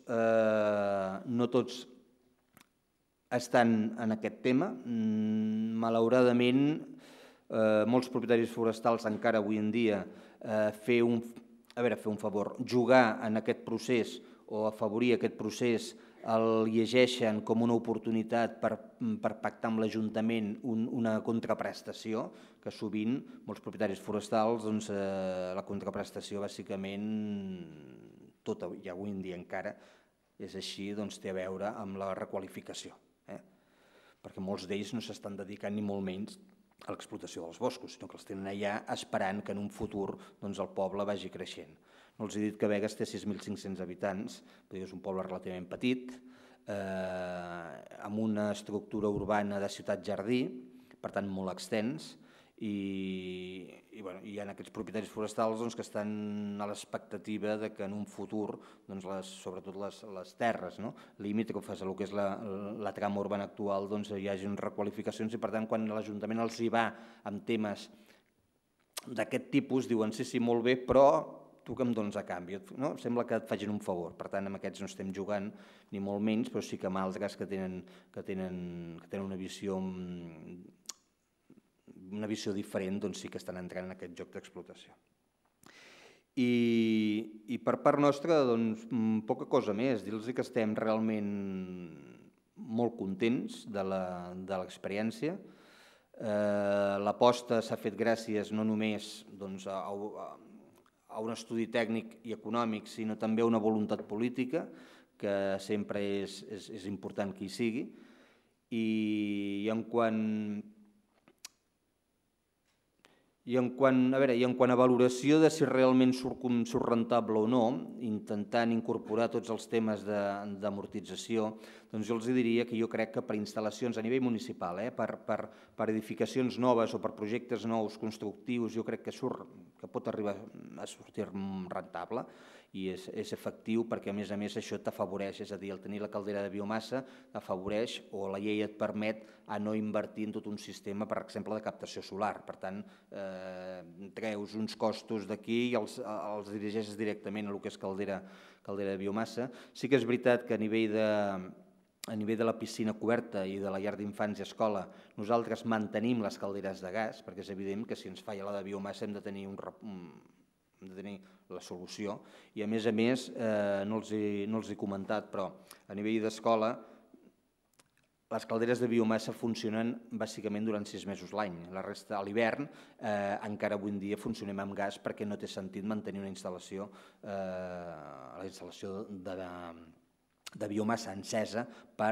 estan en aquest tema. Malauradament, molts propietaris forestals encara avui en dia fer un a veure, fer un favor, jugar en aquest procés o afavorir aquest procés el llegeixen com una oportunitat per pactar amb l'Ajuntament una contraprestació, que sovint molts propietaris forestals la contraprestació bàsicament, tota i avui en dia encara és així, té a veure amb la requalificació, perquè molts d'ells no s'estan dedicant ni molt menys a l'explotació dels boscos, sinó que els tenen allà esperant que en un futur el poble vagi creixent. No els he dit que Begues té sis mil cinc-cents habitants, però és un poble relativament petit, amb una estructura urbana de ciutat-jardí, per tant molt extens, i hi ha aquests propietaris forestals que estan a l'expectativa que en un futur, sobretot les terres limítrofes a el que és la trama urbana actual, hi hagi requalificacions i, per tant, quan l'Ajuntament els hi va amb temes d'aquest tipus, diuen sí, sí, molt bé, però tu que em dones a canvi? Sembla que et facin un favor. Per tant, amb aquests no estem jugant ni molt menys, però sí que amb altres que tenen una visió una visió diferent, doncs sí que estan entrant en aquest joc d'explotació. I per part nostra, doncs, poca cosa més. Dir-los que estem realment molt contents de l'experiència. L'aposta s'ha fet gràcies no només a un estudi tècnic i econòmic, sinó també a una voluntat política, que sempre és important que hi sigui. I en quant I en quant a valoració de si realment surt rentable o no, intentant incorporar tots els temes d'amortització, doncs jo els diria que jo crec que per instal·lacions a nivell municipal, per edificacions noves o per projectes nous, constructius, jo crec que pot arribar a sortir rentable i és efectiu perquè, a més a més, això t'afavoreix, és a dir, el tenir la caldera de biomassa t'afavoreix o la llei et permet a no invertir en tot un sistema, per exemple, de captació solar. Per tant, treus uns costos d'aquí i els dirigeixes directament a el que és caldera de biomassa. Sí que és veritat que a nivell a nivell de la piscina coberta i de la llar d'infants i escola, nosaltres mantenim les calderes de gas, perquè és evident que si ens falla la de biomassa hem de tenir, un, hem de tenir la solució. I a més a més, eh, no, els he, no els he comentat, però a nivell d'escola, les calderes de biomassa funcionen bàsicament durant sis mesos l'any. La resta, a l'hivern, eh, encara avui en dia funcionem amb gas perquè no té sentit mantenir una instal·lació, eh, la instal·lació de, de de biomassa encesa per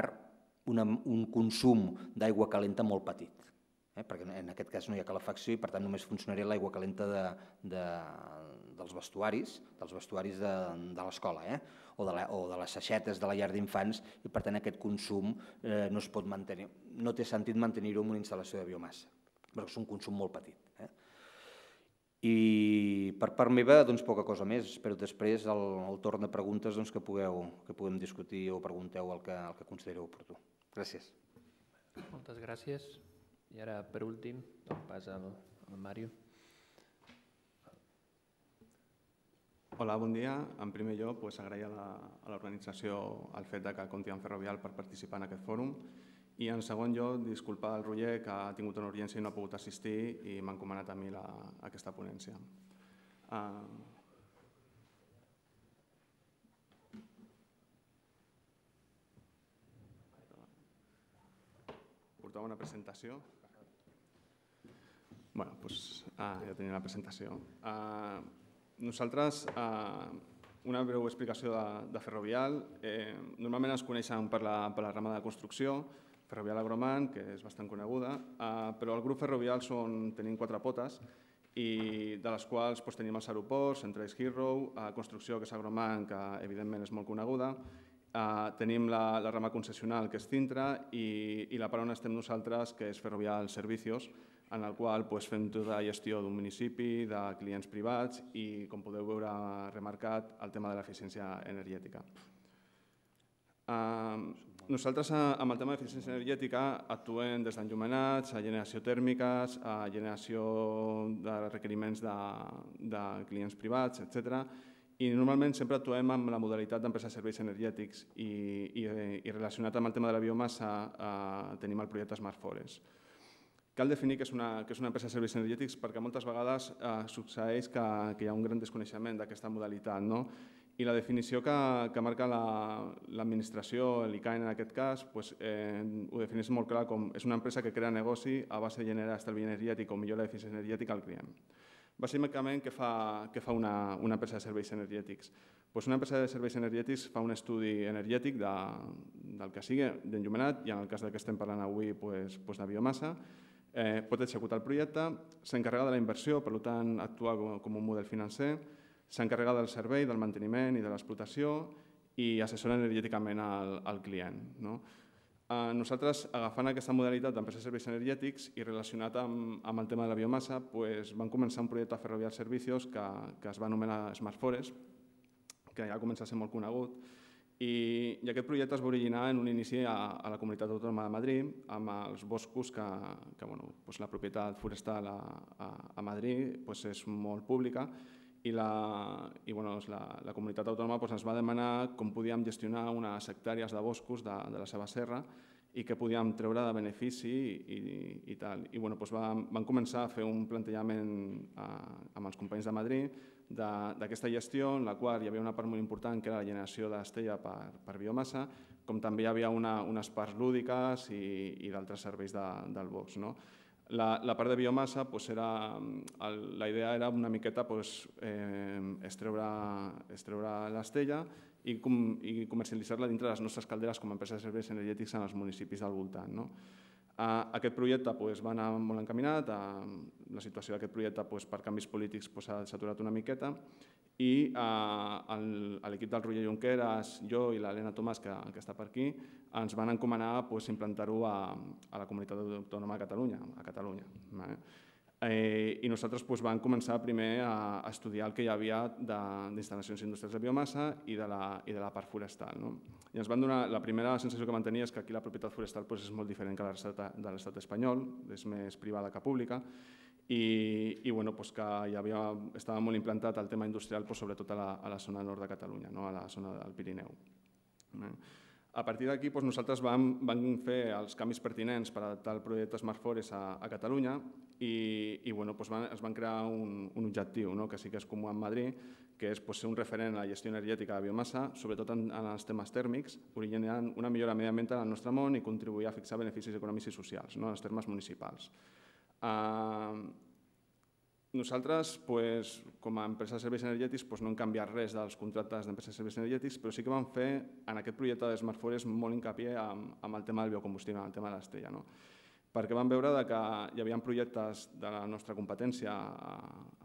una, un consum d'aigua calenta molt petit, eh? Perquè en aquest cas no hi ha calefacció i per tant només funcionaria l'aigua calenta de, de, dels vestuaris, dels vestuaris de, de l'escola, eh? o, de la, o de les saixetes de la llar d'infants, i per tant aquest consum eh, no es pot mantenir, no té sentit mantenir-ho en una instal·lació de biomassa, perquè és un consum molt petit. Eh? I per part meva, doncs, poca cosa més. Espero després el, el torn de preguntes doncs, que, pugueu, que puguem discutir o pregunteu el que, el que considereu oportú. Gràcies. Moltes gràcies. I ara, per últim, dono pas al, al Màrio. Hola, bon dia. En primer lloc, pues, agrair a l'organització el fet de que compti amb Ferrovial per participar en aquest fòrum. I en segon lloc, disculpar el Roger, que ha tingut una urgència i no ha pogut assistir i m'ha encomanat a mi la, aquesta ponència. Uh... Portava una presentació. Bueno, doncs ah, ja tenia la presentació. Uh, nosaltres, uh, una breu explicació de, de Ferrovial. Eh, normalment es coneixen per la, per la rama de construcció, Ferrovial Agroman, que és bastant coneguda, eh, però el grup Ferrovial són, tenim quatre potes, i de les quals doncs, tenim els aeroports, entre ells Heathrow, eh, construcció, que és Agroman, que evidentment és molt coneguda, eh, tenim la, la rama concessional, que és Cintra, i, i la part on estem nosaltres, que és Ferrovial Servicios, en el qual doncs, fem tota la gestió d'un municipi, de clients privats i, com podeu veure remarcat, el tema de l'eficiència energètica. Uh, nosaltres, amb el tema d'eficiència energètica, actuem des d'enllumenats, a generació tèrmiques, a generació de requeriments de, de clients privats, etcètera. I normalment sempre actuem amb la modalitat d'empresa de serveis energètics i, i, i relacionat amb el tema de la biomassa uh, tenim el projecte Smart Forest. Cal definir què és una, què és una empresa de serveis energètics perquè moltes vegades eh, succeeix que, que hi ha un gran desconeixement d'aquesta modalitat, no? I la definició que, que marca l'administració, la, l'I C A E N en aquest cas, pues, eh, ho defineix molt clar com és una empresa que crea negoci a base de generar estalvi energètic o millora d'eficiència energètica al client. Bàsicament, què fa, què fa una, una empresa de serveis energètics? Pues una empresa de serveis energètics fa un estudi energètic de, del que sigui, d'enllumenat, i en el cas que estem parlant avui pues, pues de biomassa, eh, pot executar el projecte, s'encarrega de la inversió, per tant, actua com, com un model financer, s'encarrega del servei, del manteniment i de l'explotació i assessora energèticament al, al client. No? Eh, nosaltres, agafant aquesta modalitat d'empresa de serveis energètics i relacionat amb, amb el tema de la biomassa, pues, vam començar un projecte a Ferrovial Servicios que, que es va anomenar Smart Forest, que ja comença a ser molt conegut, i, i aquest projecte es va originar en un inici a, a la Comunitat Autònoma de Madrid, amb els boscos que, que bueno, pues la propietat forestal a, a, a Madrid pues és molt pública, i la, i, bueno, la, la comunitat autònoma pues, ens va demanar com podíem gestionar unes hectàrees de boscos de, de la seva serra i què podíem treure de benefici i, i, i tal. I bueno, doncs vam, vam començar a fer un plantejament eh, amb els companys de Madrid d'aquesta gestió, en la qual hi havia una part molt important que era la generació d'estella per, per biomassa, com també hi havia una, unes parts lúdiques i, i d'altres serveis de, del bosc. No? La, la part de biomassa, pues era, el, la idea era una miqueta pues, eh, extreure, extreure l'estella i, com, i comercialitzar-la dintre de les nostres calderes com a empresa de serveis energètics en els municipis del voltant. No? Uh, aquest projecte pues, va anar molt encaminat, uh, la situació d'aquest projecte pues, per canvis polítics pues, s'ha saturat una miqueta i uh, l'equip del Roger Junqueras, jo i l'Helena Tomàs, que, que està per aquí, ens van encomanar pues, implantar-ho a, a la Comunitat Autònoma de Catalunya. A Catalunya vale? eh, I nosaltres pues, vam començar primer a, a estudiar el que hi havia d'instal·lacions industrials de biomassa i de la, i de la part forestal. No? I ens van donar, la primera sensació que van tenir és que aquí la propietat forestal pues, és molt diferent que la de l'estat espanyol, és més privada que pública, i, i bueno, pues que hi havia, estava molt implantat el tema industrial, pues, sobretot a la, a la zona nord de Catalunya, no? A la zona del Pirineu. A partir d'aquí nosaltres vam fer els canvis pertinents per adaptar el projecte Smart Forest a Catalunya i es van crear un objectiu que sí que és comú en Madrid, que és ser un referent a la gestió energètica de biomassa, sobretot en els temes tèrmics, originant una millora mediambiental al nostre món i contribuir a fixar beneficis econòmics i socials en els termes municipals. Nosaltres, com a empresa de serveis energètics, no hem canviat res dels contractes d'empreses de serveis energètics, però sí que vam fer en aquest projecte de Smart Forest molt hincapié en el tema del biocombustible, en el tema de l'Estella, perquè vam veure que hi havia projectes de la nostra competència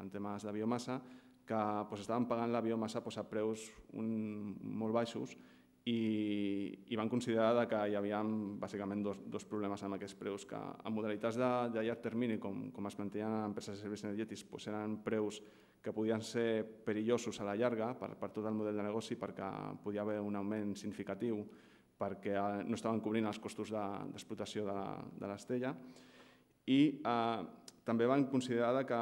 en temes de biomassa que estaven pagant la biomassa a preus molt baixos i van considerar que hi havia bàsicament dos problemes amb aquests preus, que en modalitats de llarg termini, com es plantejen en empreses de serveis energètics, eren preus que podien ser perillosos a la llarga per tot el model de negoci, perquè podia haver un augment significatiu perquè no estaven cobrint els costos d'explotació de l'Estella, i també van considerar que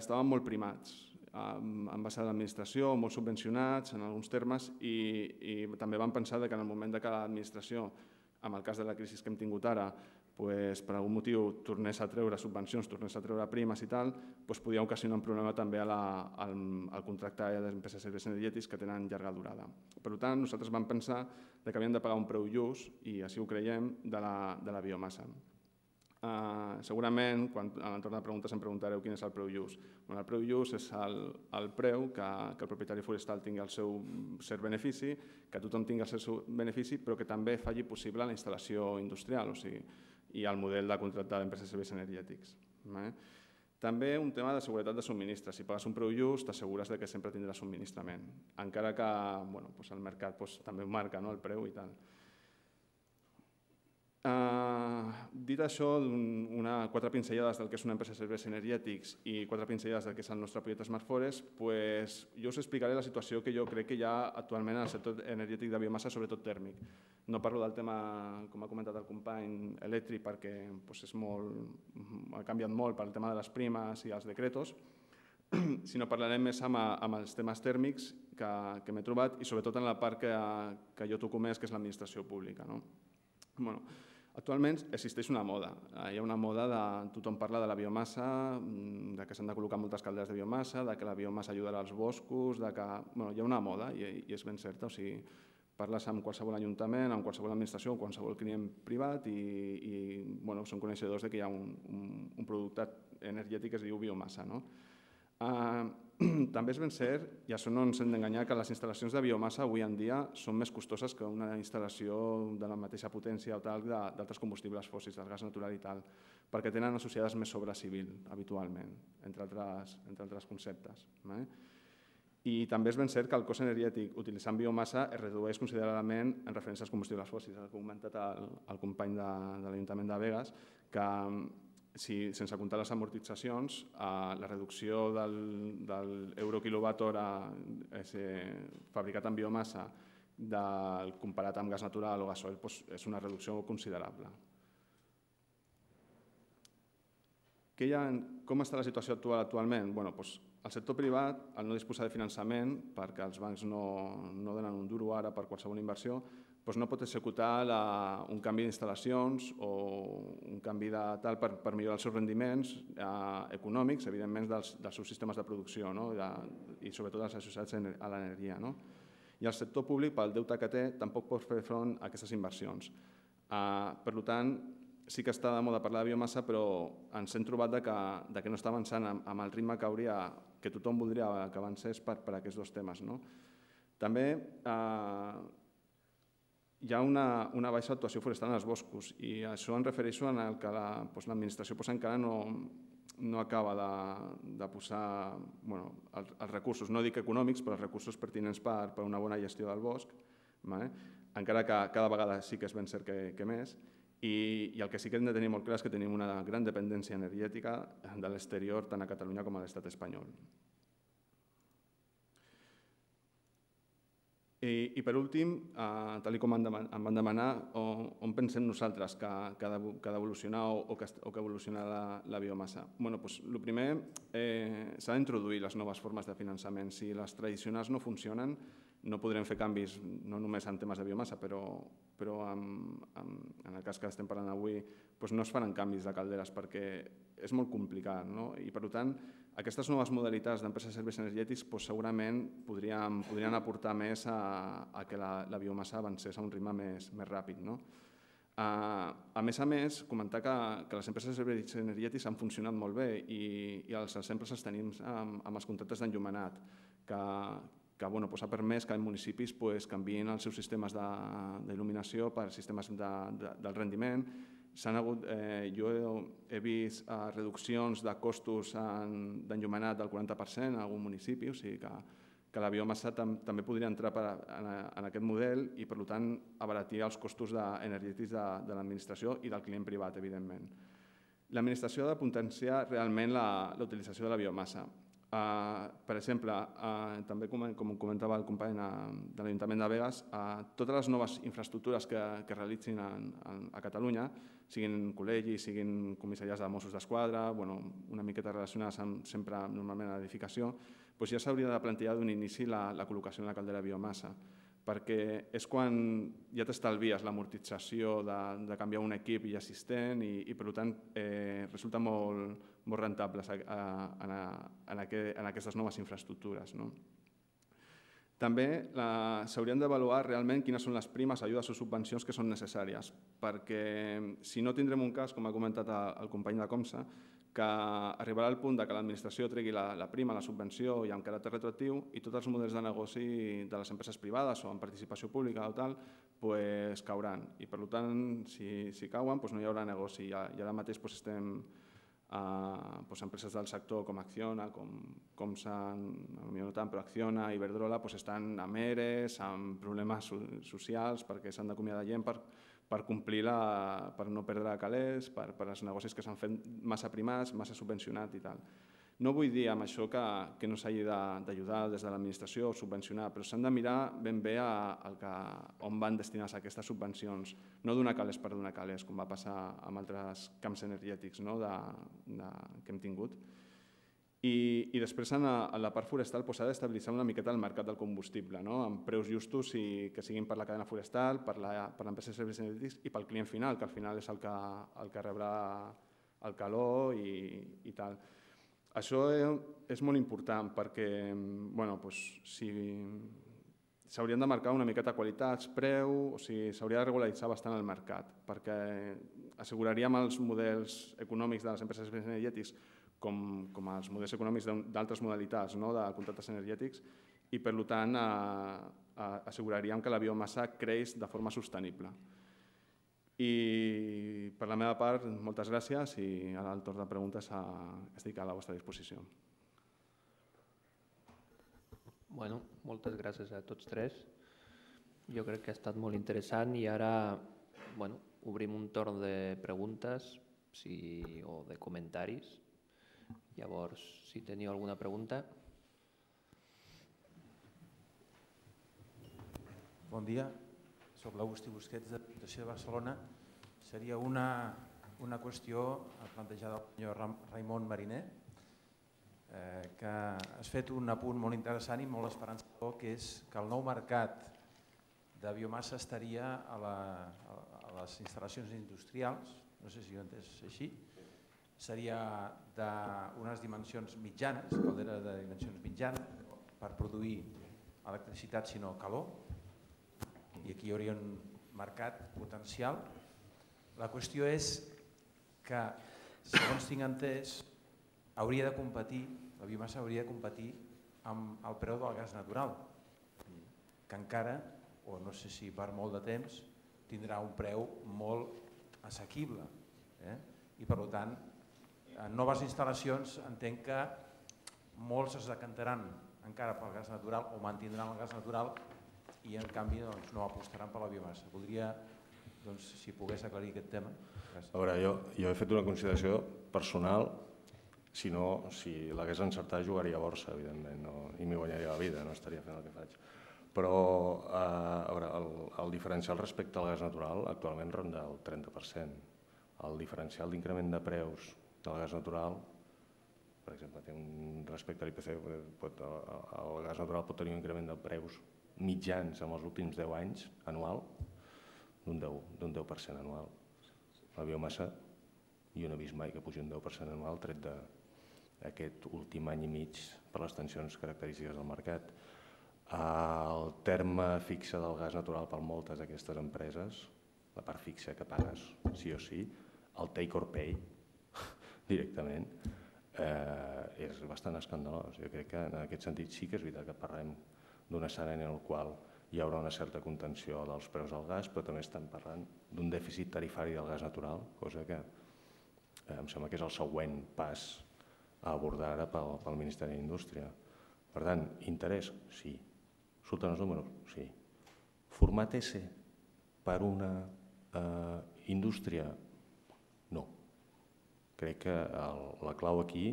estaven molt primats en base a l'administració, molt subvencionats en alguns termes, i també van pensar que en el moment que l'administració, en el cas de la crisi que hem tingut ara, per algun motiu tornés a treure subvencions, tornés a treure primes i tal, podia ocasionar un problema també al contracte d'empreses de serveis energètics que tenen llarga durada. Per tant, nosaltres vam pensar que havíem de pagar un preu just, i així ho creiem, de la biomassa. Segurament, quan a l'entorn de preguntes em preguntareu quin és el preu just. El preu just és el preu que el propietari forestal tingui el seu cert benefici, que tothom tingui el seu benefici, però que també faci possible la instal·lació industrial, o sigui, i el model de contracte d'empreses de serveis energètics. També un tema de seguretat de subministre. Si pagues un preu just, t'assegures que sempre tindràs subministrament, encara que el mercat també ho marca, el preu i tal. Dit això, quatre pinzellades del que és una empresa de serveis energètics i quatre pinzellades del que és el nostre projecte Smart Forest, jo us explicaré la situació que jo crec que hi ha actualment en el sector energètic de biomassa, sobretot tèrmic. No parlo del tema, com ha comentat el company, elèctric, perquè ha canviat molt pel tema de les primes i els decretos, sinó parlarem més amb els temes tèrmics que m'he trobat i sobretot en la part que jo toco més, que és l'administració pública. Actualment existeix una moda, hi ha una moda de tothom parla de la biomassa, que s'han de col·locar moltes calderes de biomassa, que la biomassa ajudarà als boscos, hi ha una moda i és ben certa, o sigui, parles amb qualsevol ajuntament, amb qualsevol administració, amb qualsevol client privat i són coneixedors que hi ha un producte energètic que es diu biomassa. També és ben cert, i això no ens hem d'enganyar, que les instal·lacions de biomassa avui en dia són més costoses que una instal·lació de la mateixa potència o tal d'altres combustibles fòssils, del gas natural i tal, perquè tenen associades més obra civil, habitualment, entre altres conceptes. I també és ben cert que el cost energètic utilitzant biomassa es redueix considerablement en referència als combustibles fòssils. Ha comentat el company de l'Ajuntament de Begues que sense comptar les amortitzacions, la reducció de l'euro quilowatt hora fabricat amb biomassa comparat amb gas natural o gasoil és una reducció considerable. Com està la situació actual actualment? El sector privat, al no disposar de finançament, perquè els bancs no donen un duro ara per qualsevol inversió, no pot executar un canvi d'instal·lacions o un canvi de tal per millorar els seus rendiments econòmics, evidentment, dels seus sistemes de producció i sobretot els associats a l'energia. I el sector públic, pel deute que té, tampoc pot fer front a aquestes inversions. Per tant, sí que està de moda parlar de biomassa, però ens hem trobat que no està avançant amb el ritme que tothom voldria que avancés per aquests dos temes. També hi ha una baixa actuació forestal en els boscos i això em refereixo a que l'administració encara no acaba de posar els recursos, no dic econòmics, però els recursos pertinents per una bona gestió del bosc, encara que cada vegada sí que és ben cert que més, i el que sí que hem de tenir molt clar és que tenim una gran dependència energètica de l'exterior, tant a Catalunya com a l'estat espanyol. I per últim, tal com em van demanar, on pensem nosaltres que ha d'evolucionar o que evolucionarà la biomassa? El primer, s'han d'introduir les noves formes de finançament. Si les tradicionals no funcionen, no podrem fer canvis no només en temes de biomassa, però, però en, en, en el cas que estem parlant avui doncs no es faran canvis de calderes perquè és molt complicat. No? I per tant, aquestes noves modalitats d'empreses de serveis energètics doncs, segurament podrien, podrien aportar més a, a que la, la biomassa avancés a un ritme més, més ràpid. No? Uh, a més a més, comentar que, que les empreses de serveis energètics han funcionat molt bé i, i els exemples els tenim amb, amb els contractes d'enllumenat, que, que bueno, doncs ha permès que els municipis doncs, canviïn els seus sistemes d'il·luminació per sistemes de, de, del rendiment. Hagut, eh, jo he, he vist eh, reduccions de costos d'enllumenat del quaranta per cent en algun municipi, o sigui que, que la biomassa tam, també podria entrar per, en, en aquest model i, per tant, abaratir els costos energètics de, de l'administració i del client privat, evidentment. L'administració ha de potenciar realment la, la utilització de la biomassa. Uh, per exemple, uh, també com, com comentava el company uh, de l'Ajuntament de Begues, uh, totes les noves infraestructures que, que realitzin en, en, a Catalunya, siguin col·legis, siguin comissariats de Mossos d'Esquadra, bueno, una miqueta relacionades amb, sempre normalment a l'edificació, doncs ja s'hauria de plantejar d'un inici la, la col·locació en la caldera de biomassa, perquè és quan ja t'estalvies l'amortització de, de canviar un equip ja existent i, i per tant, eh, resulta molt, molt rentables a, a, a, en, aquest, en aquestes noves infraestructures. No? També s'haurien d'avaluar realment quines són les primes, ajudes o subvencions que són necessàries, perquè si no tindrem un cas, com ha comentat el company de Comsa, que arribarà al punt que l'administració tregui la, la prima, la subvenció i amb caràcter retroactiu i tots els models de negoci de les empreses privades o amb participació pública o tal pues, cauran. I per tant, si, si cauen, pues no hi haurà negoci. I ara mateix pues, estem a pues, empreses del sector com Acciona, com, com s'han, no tant, però Acciona i Iberdrola pues, estan amb E R Es, amb problemes socials perquè s'han d'acomiadar gent per per complir la, per no perdre calés, per, per als negocis que s'han fet massa primats, massa subvencionat i tal. No vull dir amb això que, que no s'hagi d'ajudar des de l'administració o subvencionar, però s'han de mirar ben bé a, a que, on van destinades aquestes subvencions, no donar calés per donar calés, com va passar amb altres camps energètics no, de, de, que hem tingut. I, i després en la, en la part forestal s'ha d'estabilitzar una miqueta el mercat del combustible, no? Amb preus justos i que siguin per la cadena forestal, per l'empresa de serveis energètics i pel client final, que al final és el que, el que rebrà el calor i, i tal. Això és molt important perquè bueno, doncs, si s'haurien de marcar una miqueta qualitats, preu, o sigui, s'hauria de regularitzar bastant el mercat perquè asseguraríem els models econòmics de les empreses de serveis energètics Com, com els models econòmics d'altres modalitats no, de contractes energètics i, per tant, a, a, asseguraríem que la biomassa creix de forma sostenible. I, per la meva part, moltes gràcies i ara al torn de preguntes a, estic a la vostra disposició. Bueno, moltes gràcies a tots tres. Jo crec que ha estat molt interessant i ara bueno, obrim un torn de preguntes si, o de comentaris. Llavors, si teniu alguna pregunta. Bon dia, soc l'Agustí Busquets de Diputació de Barcelona. Seria una, una qüestió plantejada pel senyor Raimon Mariner, eh, que has fet un apunt molt interessant i molt esperançador, que és que el nou mercat de biomassa estaria a, la, a les instal·lacions industrials, no sé si ho he entès així, seria d'unes dimensions mitjanes, caldera de dimensions mitjanes, per produir electricitat sinó calor, i aquí hi hauria un mercat potencial. La qüestió és que, segons tinc entès, hauria de competir, la biomassa hauria de competir amb el preu del gas natural, que encara, o no sé si per molt de temps, tindrà un preu molt assequible. Eh? I per tant, en noves instal·lacions entenc que molts es decantaran encara pel gas natural o mantindran el gas natural i en canvi doncs, no apostaran per la biomassa. Voldria, doncs, si pogués aclarir aquest tema. Gràcies. A veure, jo, jo he fet una consideració personal, si no, si l'hagués encertat jugaria a borsa, evidentment, no, i m'hi guanyaria la vida, no estaria fent el que faig. Però eh, a veure, el, el diferencial respecte al gas natural actualment ronda el trenta per cent. El diferencial d'increment de preus del gas natural, per exemple, té un, respecte a l'I P C, pot, el gas natural pot tenir un increment de preus mitjans en els últims deu anys anual d'un deu per cent anual. La biomassa jo no he vist mai que pugi un deu per cent anual tret d'aquest últim any i mig per les tensions característiques del mercat. El terme fixe del gas natural per moltes d'aquestes empreses, la part fixa que pagues sí o sí, el take or pay directament, és bastant escandalós. Jo crec que en aquest sentit sí que és veritat que parlem d'un escenari en el qual hi haurà una certa contenció dels preus del gas, però també estem parlant d'un dèficit tarifari del gas natural, cosa que em sembla que és el següent pas a abordar ara pel Ministeri d'Indústria. Per tant, interès? Sí. Surten els números? Sí. Format S per una indústria? No. Crec que la clau aquí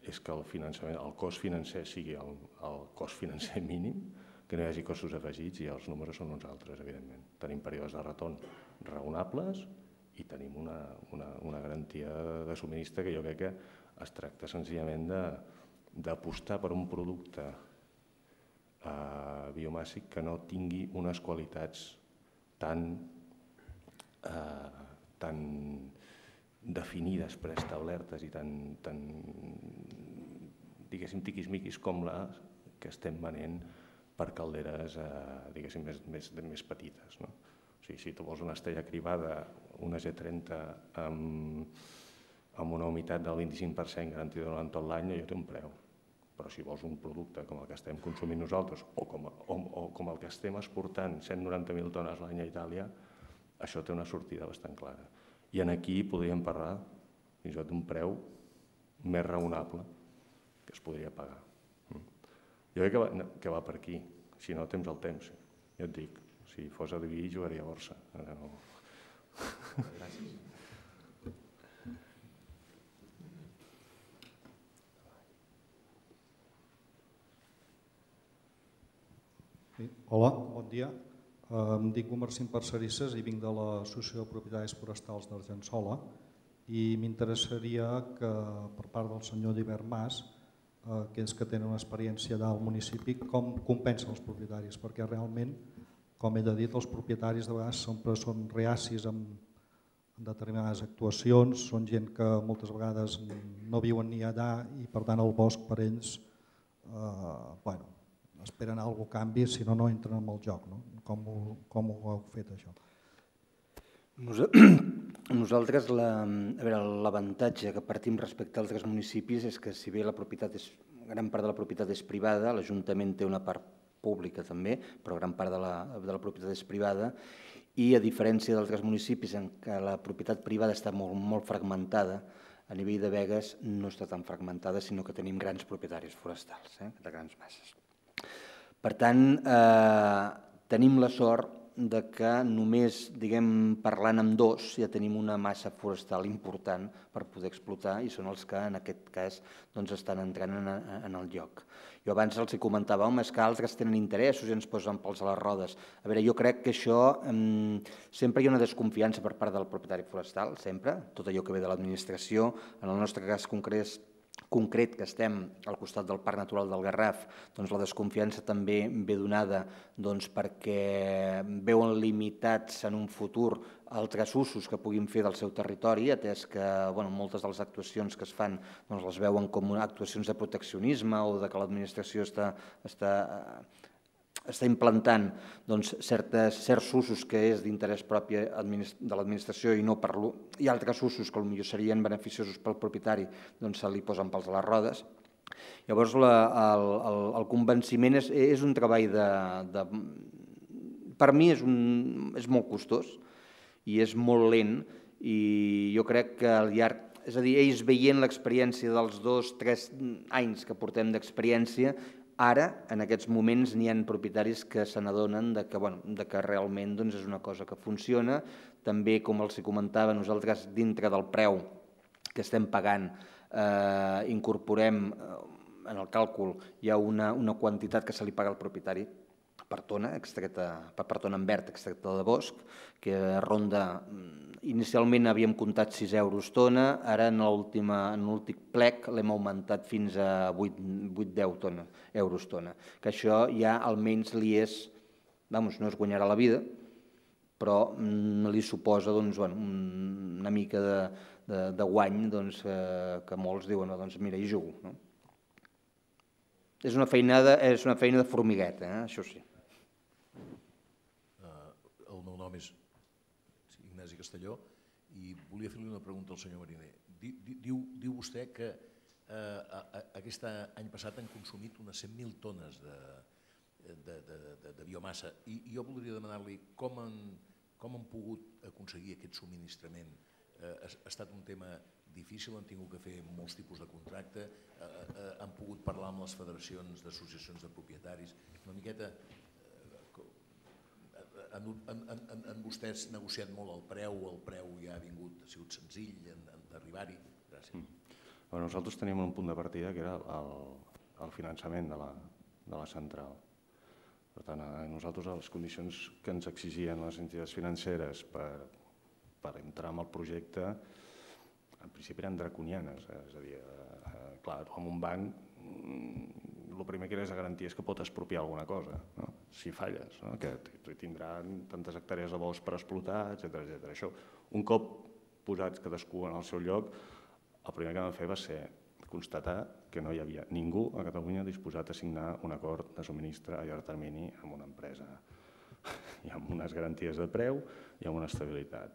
és que el cost financer sigui el cost financer mínim, que no hi hagi costos afegits i els números són uns altres, evidentment. Tenim períodes de retorn raonables i tenim una garantia de subministre que jo crec que es tracta senzillament d'apostar per un producte biomàssic que no tingui unes qualitats tan tan definides, preestablertes i tan, diguéssim, tiquismiquis com la que estem venent per calderes, diguéssim, més petites. O sigui, si tu vols una estrella cribada, una G trenta amb una humitat del vint-i-cinc per cent garantida durant tot l'any, allò té un preu. Però si vols un producte com el que estem consumint nosaltres o com el que estem exportant cent noranta mil tones l'any a Itàlia, això té una sortida bastant clara. I aquí podríem parlar fins i tot d'un preu més raonable que es podria pagar. Jo crec que va per aquí, si no temps al temps. Jo et dic, si fos a dividir jugaria a borsa. Gràcies. Hola, bon dia. Em dic Marcín Parcerisses i vinc de l'Associació de Propietaris Forestals d'Argençola i m'interessaria que per part del senyor Divert Mas, aquells que tenen una experiència del municipi, com compensen els propietaris, perquè realment, com ell ha dit, els propietaris de vegades sempre són reacis en determinades actuacions, són gent que moltes vegades no viuen ni allà i per tant el bosc per ells, bueno, esperen que alguna cosa canvi, si no, no entren en el joc. Com ho heu fet, això? Nosaltres, l'avantatge que partim respecte als altres municipis és que si bé la propietat és, gran part de la propietat és privada, l'Ajuntament té una part pública també, però gran part de la propietat és privada, i a diferència d'altres municipis en què la propietat privada està molt fragmentada, a nivell de Begues no està tan fragmentada, sinó que tenim grans propietaris forestals, de grans masses. Per tant, tenim la sort que només parlant amb dos ja tenim una massa forestal important per poder explotar i són els que en aquest cas estan entrant en el lloc. Jo abans els comentava, home, és que altres tenen interessos i ens posen pals a les rodes. A veure, jo crec que això sempre hi ha una desconfiança per part del propietari forestal, sempre, tot allò que ve de l'administració. En el nostre cas concret, concret que estem al costat del Parc Natural del Garraf, doncs la desconfiança també ve donada perquè veuen limitats en un futur altres usos que puguin fer del seu territori, atès que moltes de les actuacions que es fan les veuen com actuacions de proteccionisme o que l'administració està està implantant certs usos que és d'interès propi de l'administració i altres usos que potser serien beneficiosos pel propietari, doncs se li posen pals a les rodes. Llavors, el convenciment és un treball de... Per mi és molt costós i és molt lent i jo crec que al llarg... És a dir, ells veient l'experiència dels dos, tres anys que portem d'experiència, ara, en aquests moments, n'hi ha propietaris que se n'adonen que realment és una cosa que funciona. També, com els comentava, nosaltres dintre del preu que estem pagant incorporem en el càlcul hi ha una quantitat que se li paga al propietari per tona, per tona en verd extracte de bosc, que ronda inicialment havíem comptat sis euros tona, ara en l'últim plec l'hem augmentat fins a vuit deu euros tona, que això ja almenys li és, vamos, no es guanyarà la vida, però li suposa una mica de guany que molts diuen, doncs mira, hi jugo. És una feina de formigueta, això sí. El meu nom és Ignasi Castelló i volia fer-li una pregunta al senyor Mariner. Diu vostè que aquest any passat han consumit unes cent mil tones de biomassa i jo voldria demanar-li com han pogut aconseguir aquest subministrament. Ha estat un tema difícil, han tingut que fer molts tipus de contracte, han pogut parlar amb les federacions d'associacions de propietaris, una miqueta... Han vostès negociat molt el preu, el preu ja ha vingut, ha sigut senzill d'arribar-hi? Gràcies. Nosaltres teníem un punt de partida que era el finançament de la central. Per tant, nosaltres les condicions que ens exigien les entitats financeres per entrar en el projecte en principi eren draconianes. És a dir, clar, amb un banc el primer que eres a garantir és que pot expropiar alguna cosa, si falles, que tindran tantes hectàrees de bosc per explotar, etcètera. Això, un cop posats cadascú en el seu lloc, el primer que vam fer va ser constatar que no hi havia ningú a Catalunya disposat a signar un acord de subministre a llarg termini amb una empresa i amb unes garanties de preu i amb una estabilitat.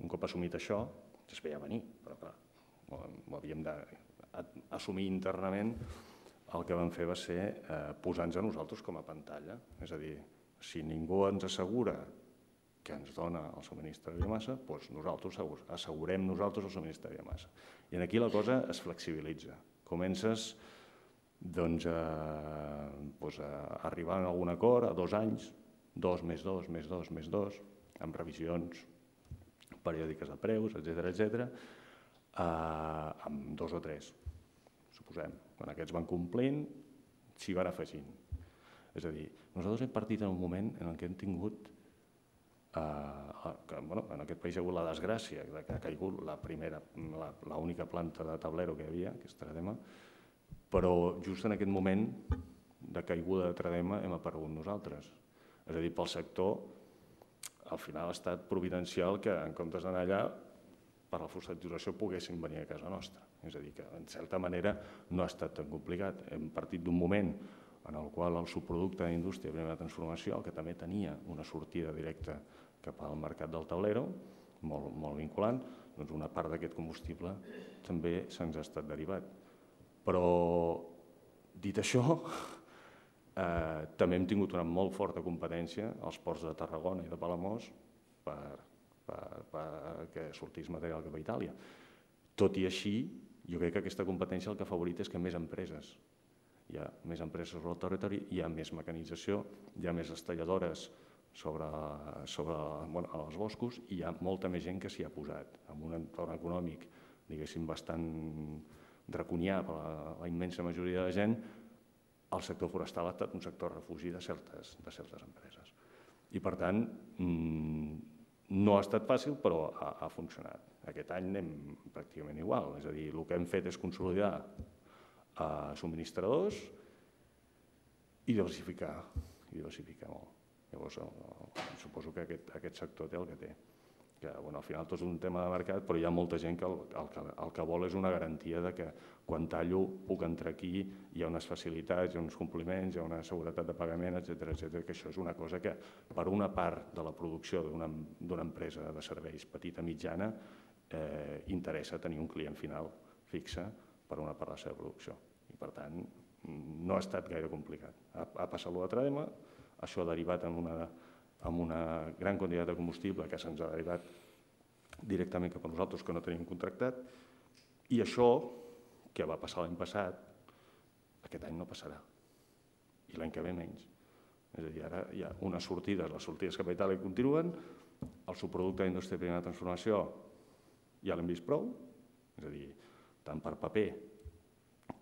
Un cop assumit això, es veia venir, però clar, ho havíem d'assumir internament. El que vam fer va ser posar-nos a nosaltres com a pantalla. És a dir, si ningú ens assegura que ens dona el subministre de biomassa, doncs nosaltres assegurem nosaltres el subministre de biomassa. I aquí la cosa es flexibilitza. Comences a arribar a algun acord a dos anys, dos més dos, més dos, més dos, amb revisions periòdiques de preus, etcètera, etcètera, amb dos o tres, suposem. Quan aquests van complint, s'hi van afegint. És a dir, nosaltres hem partit en un moment en què hem tingut, en aquest país hi ha hagut la desgràcia que ha caigut la primera, l'única planta de tablero que hi havia, que és Tradema, però just en aquest moment de caiguda de Tradema hem aparegut nosaltres. És a dir, pel sector, al final ha estat providencial que en comptes d'anar allà, per la fosfaturació poguessin venir a casa nostra. És a dir, que en certa manera no ha estat tan complicat. Hem partit d'un moment en el qual el subproducte d'indústria de primera transformació, que també tenia una sortida directa cap al mercat del tablero, molt vinculant, doncs una part d'aquest combustible també se'ns ha estat derivat. Però, dit això, també hem tingut una molt forta competència als ports de Tarragona i de Palamós perquè sortís material cap a Itàlia. Tot i així, jo crec que aquesta competència el que ha favorit és que més empreses, hi ha més empreses sobre el territori, hi ha més mecanització, hi ha més estalladores sobre els boscos i hi ha molta més gent que s'hi ha posat. En un entorn econòmic, diguéssim, bastant draconià per la immensa majoria de la gent, el sector forestal ha estat un sector refugi de certes empreses. I per tant, no ha estat fàcil, però ha funcionat. Aquest any anem pràcticament igual, és a dir, el que hem fet és consolidar subministradors i diversificar, i diversificar molt. Llavors, suposo que aquest sector té el que té. Que al final tot és un tema de mercat, però hi ha molta gent que el que vol és una garantia que quan tallo puc entrar aquí, hi ha unes facilitats, hi ha uns compliments, hi ha una seguretat de pagament, etcètera, que això és una cosa que per una part de la producció d'una empresa de serveis petita mitjana interessa tenir un client final fixe per una part de la seva producció. I per tant, no ha estat gaire complicat. Ha passat allò de Tradema, això ha derivat en una amb una gran quantitat de combustible que se'ns ha derivat directament cap a nosaltres, que no tenim contractat, i això, que va passar l'any passat, aquest any no passarà, i l'any que ve menys. És a dir, ara hi ha unes sortides, les sortides cap a Itàlia continuen, el subproducte d'indústria de primera transformació ja l'hem vist prou, és a dir, tant per paper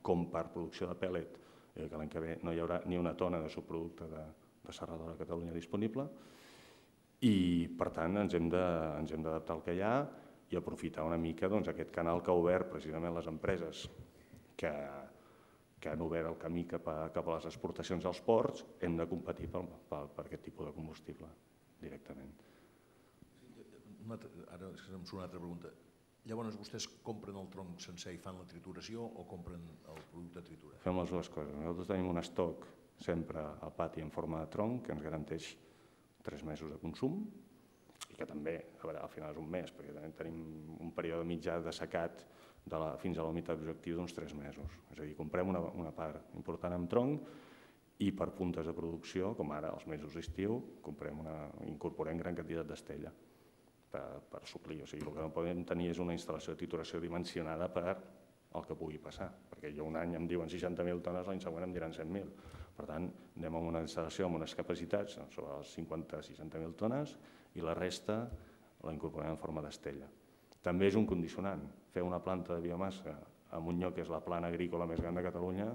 com per producció de pèl·let, que l'any que ve no hi haurà ni una tona de subproducte de serradora a Catalunya disponible, i per tant ens hem d'adaptar al que hi ha i aprofitar una mica aquest canal que ha obert precisament les empreses que han obert el camí cap a les exportacions als ports. Hem de competir per aquest tipus de combustible directament. Ara em surt una altra pregunta. Llavors vostès compren el tronc sencer i fan la trituració o compren el producte triturat? Fem les dues coses. Nosaltres tenim un estoc sempre al pati en forma de tronc que ens garanteix tres mesos de consum i que també, a veure, al final és un mes, perquè també tenim un període mitjà de secat fins a la humitat objectiu d'uns tres mesos. És a dir, comprem una part important en tronc i per puntes de producció, com ara els mesos d'estiu, incorporem gran quantitat d'estella per suplir. O sigui, el que no podem tenir és una instal·lació de trituració dimensionada per el que pugui passar, perquè jo un any em diuen seixanta mil tones, l'any següent em diran cent mil. Per tant, anem a una instal·lació amb unes capacitats sobre les cinquanta a seixanta mil tones i la resta la incorporem en forma d'estella. També és un condicionant. Fer una planta de biomassa en un lloc que és la plana agrícola més gran de Catalunya,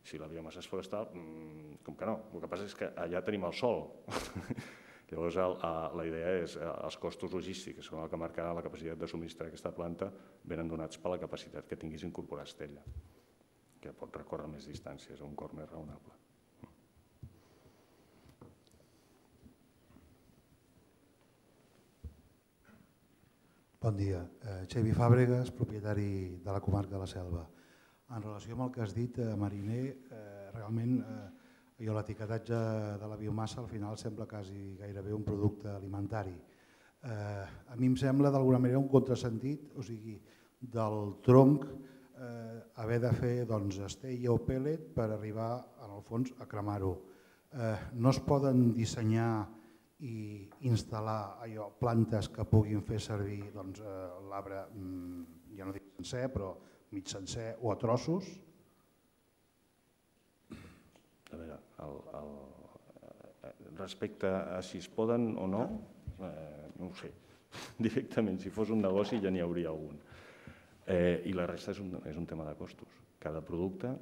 si la biomassa és forestal, com que no. El que passa és que allà tenim el sol. Llavors, la idea és els costos logístics, que són el que marcarà la capacitat de subministrar aquesta planta, venen donats per la capacitat que tinguis d'incorporar estella, que pot recórrer més distàncies a un cost més raonable. Bon dia. Xavi Fàbregas, propietari de la comarca de la Selva. En relació amb el que has dit, Mariner, realment l'etiquetatge de la biomassa al final sembla quasi gairebé un producte alimentari. A mi em sembla d'alguna manera un contrasentit, o sigui, del tronc haver de fer estella o pèl·let per arribar, en el fons, a cremar-ho. No es poden dissenyar i instal·lar plantes que puguin fer servir l'arbre, ja no dic sencer, però mig sencer o a trossos? A veure, respecte a si es poden o no, no ho sé. Directament, si fos un negoci ja n'hi hauria algun. I la resta és un tema de costos. Cada producte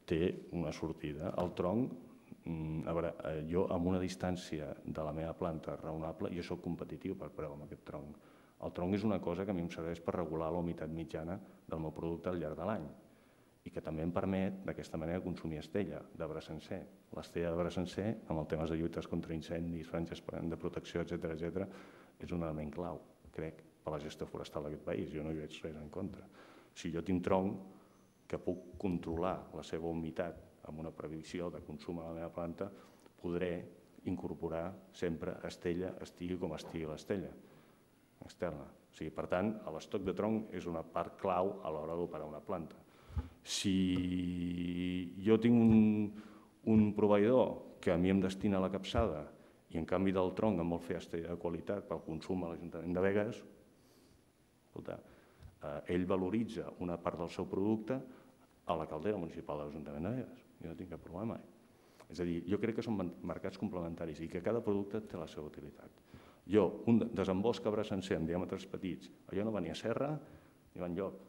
té una sortida. El tronc, a veure, jo amb una distància de la meva planta raonable, jo soc competitiu per preu amb aquest tronc. El tronc és una cosa que a mi em serveix per regular la humitat mitjana del meu producte al llarg de l'any i que també em permet d'aquesta manera consumir estella d'arbre sencer. L'estella d'arbre sencer, amb els temes de lluites contra incendis, franges de protecció, etcètera, etcètera, és un element clau, crec, per la gestió forestal d'aquest país. Jo no hi veig res en contra. Si jo tinc tronc que puc controlar la seva humitat amb una previsió de consum a la meva planta, podré incorporar sempre estella, estigui com estigui l'estella externa. Per tant, l'estoc de tronc és una part clau a l'hora d'operar una planta. Si jo tinc un proveïdor que a mi em destina la capçada i en canvi del tronc em vol fer estella de qualitat pel consum a l'Ajuntament de Begues, ell valoritza una part del seu producte a la caldera municipal de l'Ajuntament de Begues. Jo no tinc cap problema. És a dir, jo crec que són mercats complementaris i que cada producte té la seva utilitat. Jo, un desembost arbre sencer amb diàmetres petits, allò no va ni a serra ni va enlloc.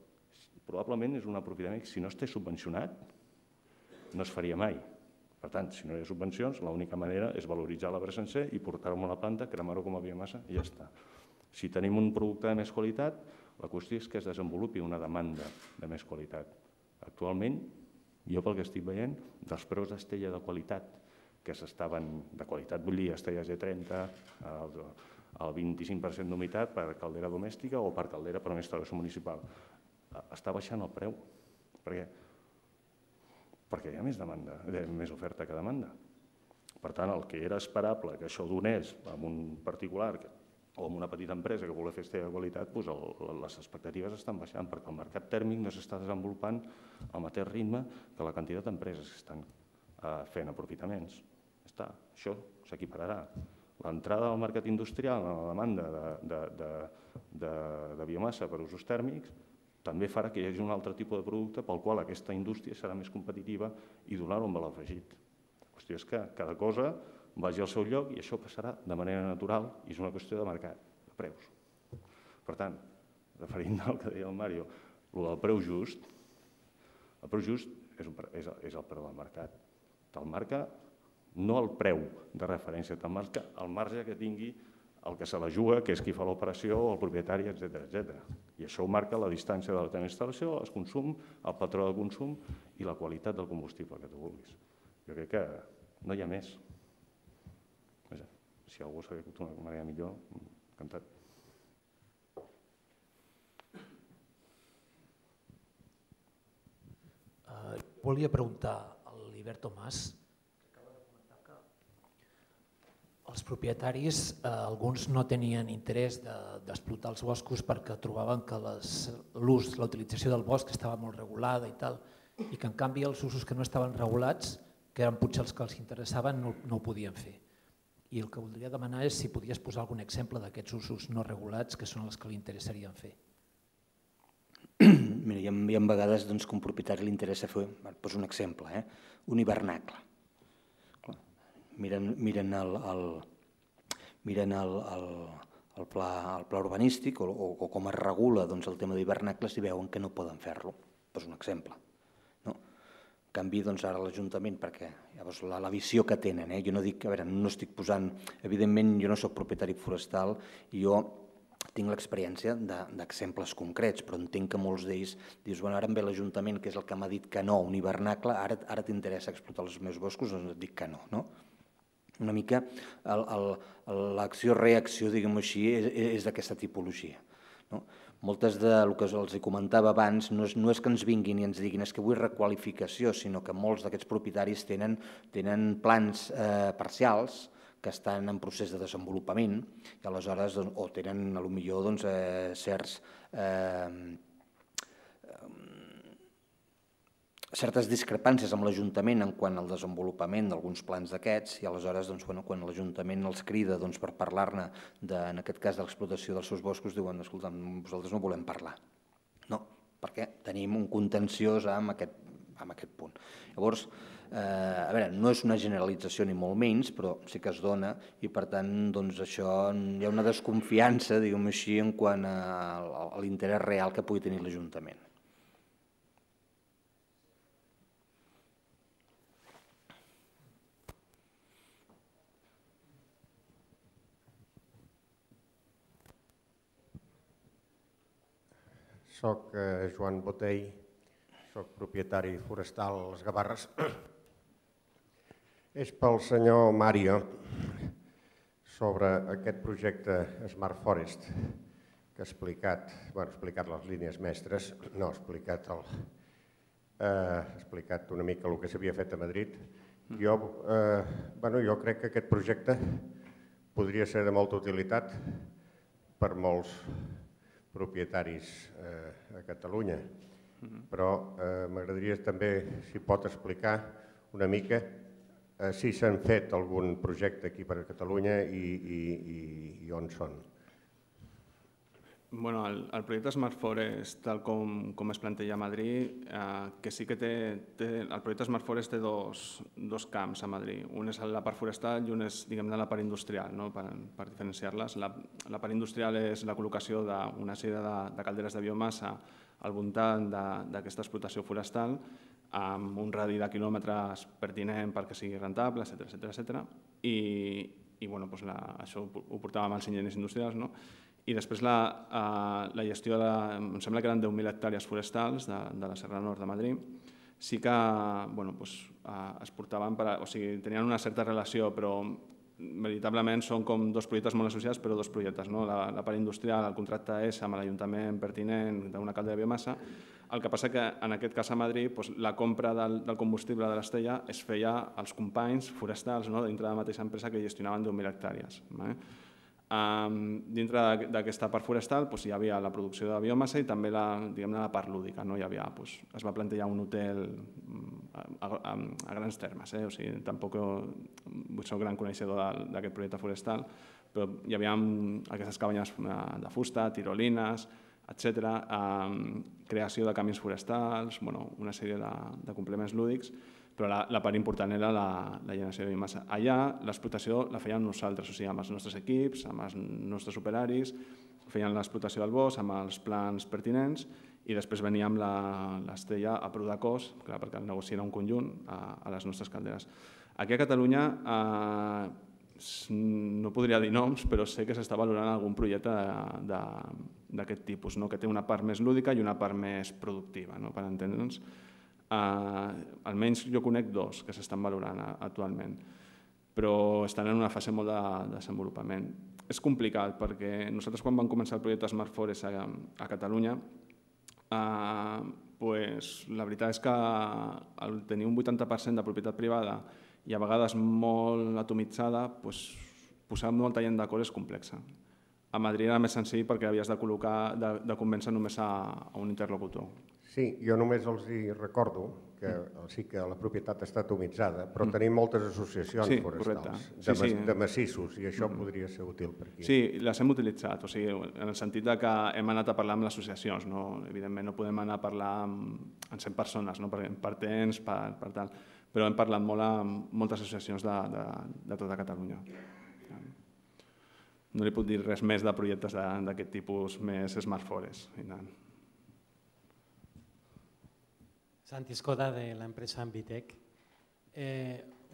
Probablement és un aprofitament que si no estigués subvencionat no es faria mai. Per tant, si no hi ha subvencions, l'única manera és valoritzar l'arbre sencer i portar-ho a una planta, cremar-ho com a biomassa i ja està. Si tenim un producte de més qualitat, la qüestió és que es desenvolupi una demanda de més qualitat. Actualment, jo pel que estic veient, dels preus d'estella de qualitat que s'estaven, de qualitat vull dir, estella G trenta, el vint-i-cinc per cent d'humitat per caldera domèstica o per caldera per una instal·lació municipal, està baixant el preu. Per què? Perquè hi ha més demanda, més oferta que demanda. Per tant, el que era esperable que això donés a un particular o a una petita empresa que volia fer estella de qualitat, les expectatives estan baixant perquè el mercat tèrmic no s'està desenvolupant al mateix ritme que la quantitat d'empreses que estan fent aprofitaments. Això s'equipararà. L'entrada al mercat industrial en la demanda de biomassa per usos tèrmics també farà que hi hagi un altre tipus de producte pel qual aquesta indústria serà més competitiva i donar-ho un valor afegit. La qüestió és que cada cosa vagi al seu lloc i això passarà de manera natural i és una qüestió de mercat, de preus. Per tant, referint al que deia el Mario, el del preu just, el preu just és el preu del mercat. Te'l marca no el preu de referència, te'l marca el marge que tingui el que se la juga, que és qui fa l'operació, el propietari, etcètera, etcètera. I això ho marca la distància de la teva instal·lació, el consum, el patró de consum i la qualitat del combustible que tu vulguis. Jo crec que no hi ha més. Si algú s'ha dit d'una manera millor, encantat. Volia preguntar a l'Hibert Tomàs, els propietaris, alguns no tenien interès d'explotar els boscos perquè trobaven que l'ús, la utilització del bosc estava molt regulada i tal, i que en canvi els usos que no estaven regulats, que eren potser els que els interessaven, no ho podien fer. I el que voldria demanar és si podies posar algun exemple d'aquests usos no regulats que són els que li interessarien fer. Mira, hi ha vegades que a un propietari li interessa fer, poso un exemple, un hivernacle. Miren el pla urbanístic o com es regula el tema d'hivernacles i veuen que no poden fer-lo. Poso un exemple. En canvi, ara l'Ajuntament, perquè la visió que tenen, jo no dic, a veure, no estic posant, evidentment jo no soc propietari forestal i jo tinc l'experiència d'exemples concrets, però entenc que molts d'ells dius, bueno, ara em ve l'Ajuntament, que és el que m'ha dit que no, un hivernacle, ara t'interessa explotar els meus boscos, doncs et dic que no, no? Una mica l'acció-reacció, diguem-ho així, és d'aquesta tipologia. Moltes del que els comentava abans no és que ens vinguin i ens diguin és que vull requalificació, sinó que molts d'aquests propietaris tenen plans parcials que estan en procés de desenvolupament i aleshores o tenen potser certs certes discrepàncies amb l'Ajuntament en quant al desenvolupament d'alguns plans d'aquests i aleshores quan l'Ajuntament els crida per parlar-ne, en aquest cas de l'explotació dels seus boscos, diuen, escolta, nosaltres no volem parlar. No, perquè tenim un contenciós amb aquest punt. Llavors, a veure, no és una generalització ni molt menys, però sí que es dona i per tant això hi ha una desconfiança, diguem-ho així, en quant a l'interès real que pugui tenir l'Ajuntament. Soc Joan Botell, soc propietari forestal a les Gavarres. És pel senyor Mario sobre aquest projecte Smart Forest que ha explicat, bueno, ha explicat les línies mestres, no, ha explicat ha explicat una mica el que s'havia fet a Madrid. Jo crec que aquest projecte podria ser de molta utilitat per molts propietaris a Catalunya, però m'agradaria també, si pot explicar una mica si s'han fet algun projecte aquí per a Catalunya i on són. El projecte Smart Forest, tal com es planteja a Madrid, que sí que té... El projecte Smart Forest té dos camps a Madrid. Un és la part forestal i un és, diguem-ne, la part industrial, per diferenciar-les. La part industrial és la col·locació d'una sèrie de calderes de biomassa al voltant d'aquesta explotació forestal amb un radi de quilòmetres pertinent perquè sigui rentable, etcètera, etcètera. I això ho portàvem als enginyers industrials, no? I després la gestió, em sembla que eren deu mil hectàrees forestals de la Serra Nord de Madrid, sí que es portaven, o sigui, tenien una certa relació, però veritablement són com dos projectes molt associats, però dos projectes. La part industrial, el contracte és amb l'Ajuntament pertinent d'una caldera de biomassa. El que passa que en aquest cas a Madrid la compra del combustible de l'Estella es feia als companys forestals dintre de la mateixa empresa que gestionaven deu mil hectàrees. Dintre d'aquesta part forestal hi havia la producció de biomassa i també la part lúdica. Es va plantejar un hotel a grans termes, tampoc soc gran coneixedor d'aquest projecte forestal, però hi havia aquestes cabanyes de fusta, tirolines, etcètera, creació de camins forestals, una sèrie de complements lúdics, però la part important era la generació de biomassa. Allà l'explotació la fèiem nosaltres, o sigui, amb els nostres equips, amb els nostres operaris, feien l'explotació del bosc amb els plans pertinents i després veníem l'Estella a prou de cost, perquè el negoci era un conjunt, a les nostres calderes. Aquí a Catalunya no podria dir noms, però sé que s'està valorant algun projecte d'aquest tipus, que té una part més lúdica i una part més productiva, per entendre'ns. Almenys jo conec dos que s'estan valorant actualment, però estan en una fase molt de desenvolupament. És complicat perquè nosaltres quan vam començar el projecte Smart Forest a Catalunya, la veritat és que al tenir un vuitanta per cent de propietat privada i a vegades molt atomitzada, posar molta gent d'acord és complexa. A Madrid era més senzill perquè havies de col·locar, de convèncer només a un interlocutor. Sí, jo només els recordo que sí que la propietat està atomitzada, però tenim moltes associacions forestals de massissos i això podria ser útil per aquí. Sí, les hem utilitzat, en el sentit que hem anat a parlar amb les associacions. Evidentment no podem anar a parlar amb cent persones, per temps, per tal, però hem parlat molt amb moltes associacions de tota Catalunya. No li puc dir res més de projectes d'aquest tipus més Smart Forest. Santi Escoda, de l'empresa Ambitec.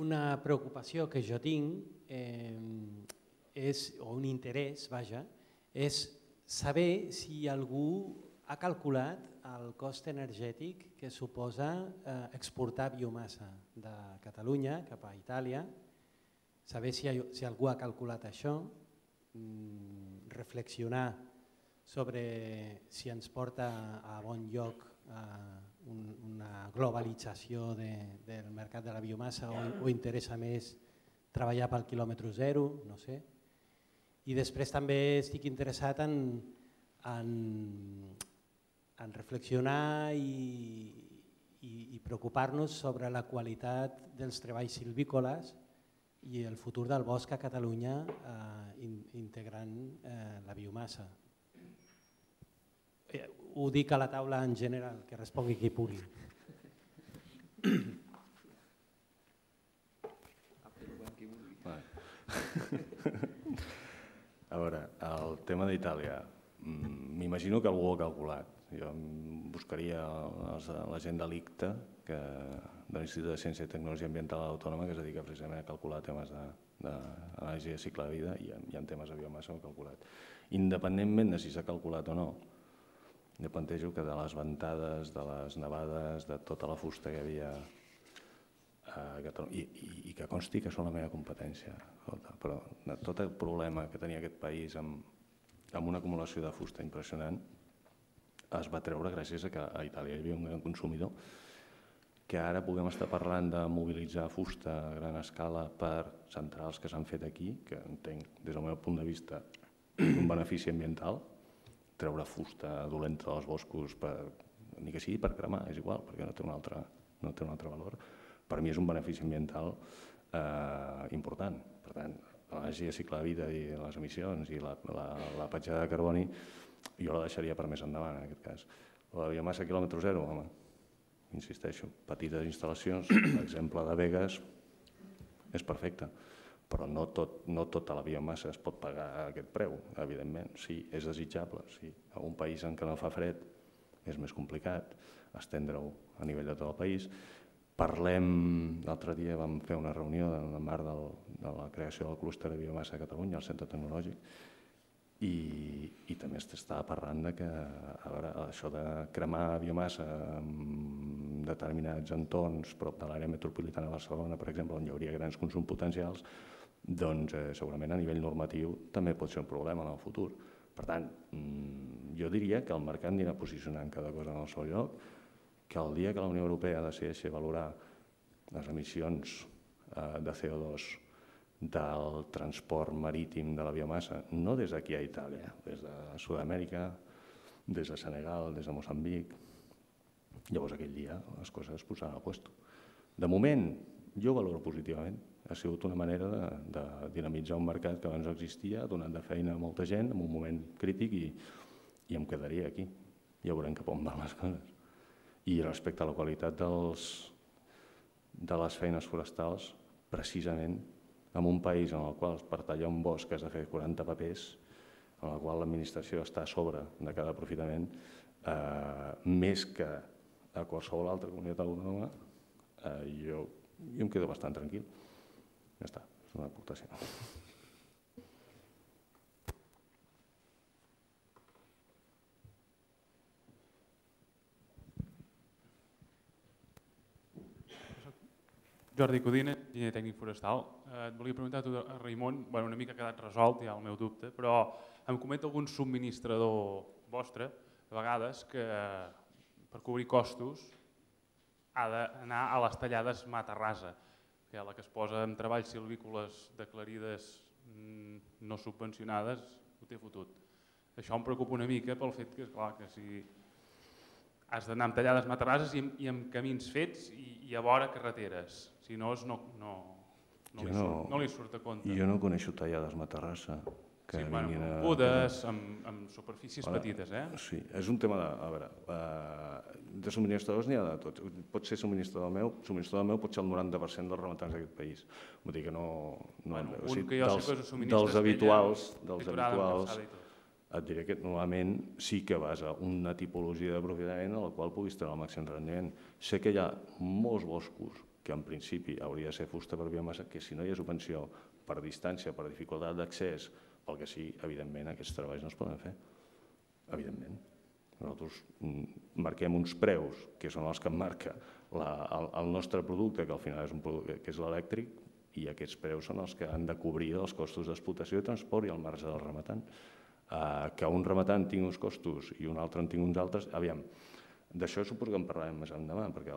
Una preocupació que jo tinc, o un interès, vaja, és saber si algú ha calculat el cost energètic que suposa exportar biomassa de Catalunya cap a Itàlia, saber si algú ha calculat això, reflexionar sobre si ens porta a bon lloc una globalització del mercat de la biomassa o interessa més treballar pel quilòmetre zero, no sé. I després també estic interessat en reflexionar i preocupar-nos sobre la qualitat dels treballs silvícoles i el futur del bosc a Catalunya integrant la biomassa. Ho dic a la taula en general, que respongui qui pugui. A veure, el tema d'Itàlia, m'imagino que algú ho ha calculat. Jo buscaria la gent de l'I C T A, de l'Institut de Ciència i Tecnologia Ambiental Autònoma, que es dedica precisament a calcular temes d'anàlisi de cicle de vida i en temes de biomassa ho ha calculat. Independentment de si s'ha calculat o no, jo plantejo que de les ventades, de les nevades, de tota la fusta que hi havia a Catalunya, i que consti que són la meva competència, però tot el problema que tenia aquest país amb una acumulació de fusta impressionant es va treure gràcies a que a Itàlia hi havia un gran consumidor, que ara puguem estar parlant de mobilitzar fusta a gran escala per centrals que s'han fet aquí, que entenc des del meu punt de vista un benefici ambiental, treure fusta dolenta dels boscos, ni que sigui per cremar, és igual, perquè no té un altre valor. Per mi és un benefici ambiental important. Per tant, l'anàlisi de cicle de vida i les emissions i la petjada de carboni jo la deixaria per més endavant, en aquest cas. La biomassa quilòmetre zero, home, insisteixo, petites instal·lacions, l'exemple de Begues és perfecte, però no tota la biomassa es pot pagar a aquest preu, evidentment. Sí, és desitjable, sí. En un país en què no fa fred és més complicat estendre-ho a nivell de tot el país. Parlem, l'altre dia vam fer una reunió en el marc de la creació del clúster de biomassa a Catalunya, al Centre Tecnològic, i també s'estava parlant que això de cremar biomassa en determinats entorns, prop de l'àrea metropolitana de Barcelona, per exemple, on hi hauria grans consums potencials, doncs segurament a nivell normatiu també pot ser un problema en el futur. Per tant, jo diria que el mercat anirà posicionant cada cosa en el seu lloc, que el dia que la Unió Europea decideixi valorar les emissions de C O dos del transport marítim de la biomassa, no des d'aquí a Itàlia, des de Sud-amèrica, des de Senegal, des de Moçambic, llavors aquell dia les coses es posaran al puesto. De moment, jo valoro positivament. Ha sigut una manera de dinamitzar un mercat que abans no existia, ha donat de feina a molta gent en un moment crític i em quedaria aquí. Ja veurem cap on van les coses. I respecte a la qualitat de les feines forestals, precisament en un país en el qual per tallar un bosc has de fer quaranta papers, en el qual l'administració està a sobre de cada aprofitament, més que a qualsevol altra comunitat autònoma, jo em quedo bastant tranquil. Ja està. És una aportació. Jordi Codina, enginyer tècnic forestal. Et volia preguntar a tu, Raimon, una mica ha quedat resolt, ja el meu dubte, però em comenta algun subministrador vostre, a vegades, que per cobrir costos ha d'anar a les tallades mata rasa, que la que es posa en treballs silvícoles declarides no subvencionades ho té fotut. Això em preocupa una mica pel fet que, esclar, que si has d'anar amb tallades mata rases i amb camins fets i a vora carreteres, si no no li surt a compte. Jo no coneixo tallades matarrassa. Sí, amb podes, amb superfícies petites, eh? Sí, és un tema de... A veure, de subministradors n'hi ha de tots. Pot ser subministrador meu, subministrador meu pot ser el noranta per cent dels rematants d'aquest país. Vull dir que no... Dels habituals, dels habituals, et diré que normalment sí que vas a una tipologia d'aprofitament a la qual puguis treure el màxim rendiment. Sé que hi ha molts boscos que en principi hauria de ser fusta per biomassa, que si no hi ha subvenció per distància, per dificultat d'accés, pel que sí, evidentment, aquests treballs no es poden fer. Evidentment. Nosaltres marquem uns preus, que són els que marca el nostre producte, que al final és un producte que és l'elèctric, i aquests preus són els que han de cobrir els costos d'explotació i transport i el marge del rematant. Que un rematant tingui uns costos i un altre en tingui uns altres, aviam, d'això suposo que en parlarem més endavant, perquè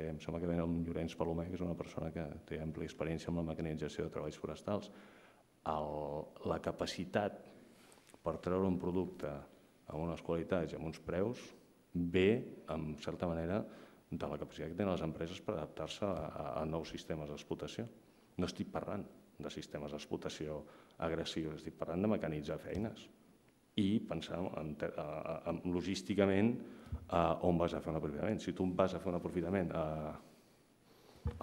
em sembla que ve el Llorenç Palomer, que és una persona que té àmplia experiència amb la mecanització de treballs forestals. La capacitat per treure un producte amb unes qualitats i amb uns preus ve, en certa manera, de la capacitat que tenen les empreses per adaptar-se a nous sistemes d'explotació. No estic parlant de sistemes d'explotació agressius, estic parlant de mecanitzar feines i pensar logísticament on vas a fer un aprofitament. Si tu vas a fer un aprofitament a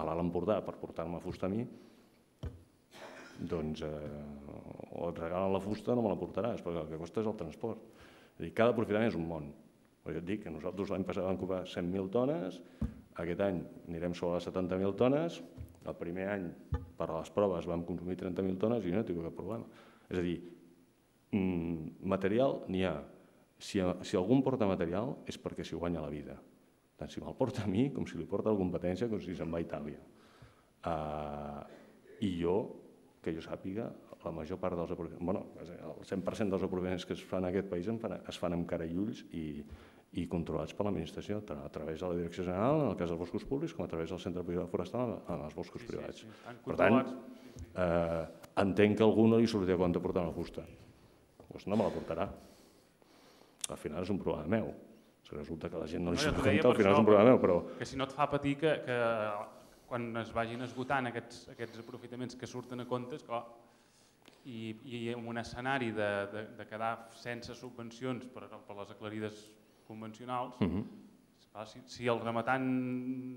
l'Alt Empordà per portar-me fusta a mi, doncs o et regalen la fusta o no me la portaràs, perquè el que costa és el transport. Cada aprofitament és un món. Jo et dic que nosaltres l'any passat vam comprar cent mil tones, aquest any anirem sobre les setanta mil tones, el primer any per a les proves vam consumir trenta mil tones i jo no tinc cap problema. És a dir, material n'hi ha. Si algú em porta material és perquè s'hi guanya la vida. Tant si me'l porta a mi com si li porta la competència com si se'n va a Itàlia. I jo, que jo sàpiga, la major part dels aprofitaments, bueno, el cent per cent dels aprofitaments que es fan en aquest país es fan amb cara i ulls i controlats per l'administració, tant a través de la Direcció General, en el cas dels boscos públics, com a través del Centre Privat Forestal en els boscos privats. Per tant, entenc que a algú no li sortirà a compte portar una fusta. Doncs no me la portarà. Al final és un problema meu. Si resulta que la gent no li surt a compte, al final és un problema meu, però... Que si no et fa patir que quan es vagin esgotant aquests aprofitaments que surten a compte, esclar, i en un escenari de quedar sense subvencions per les aclarides convencionals, si el rematant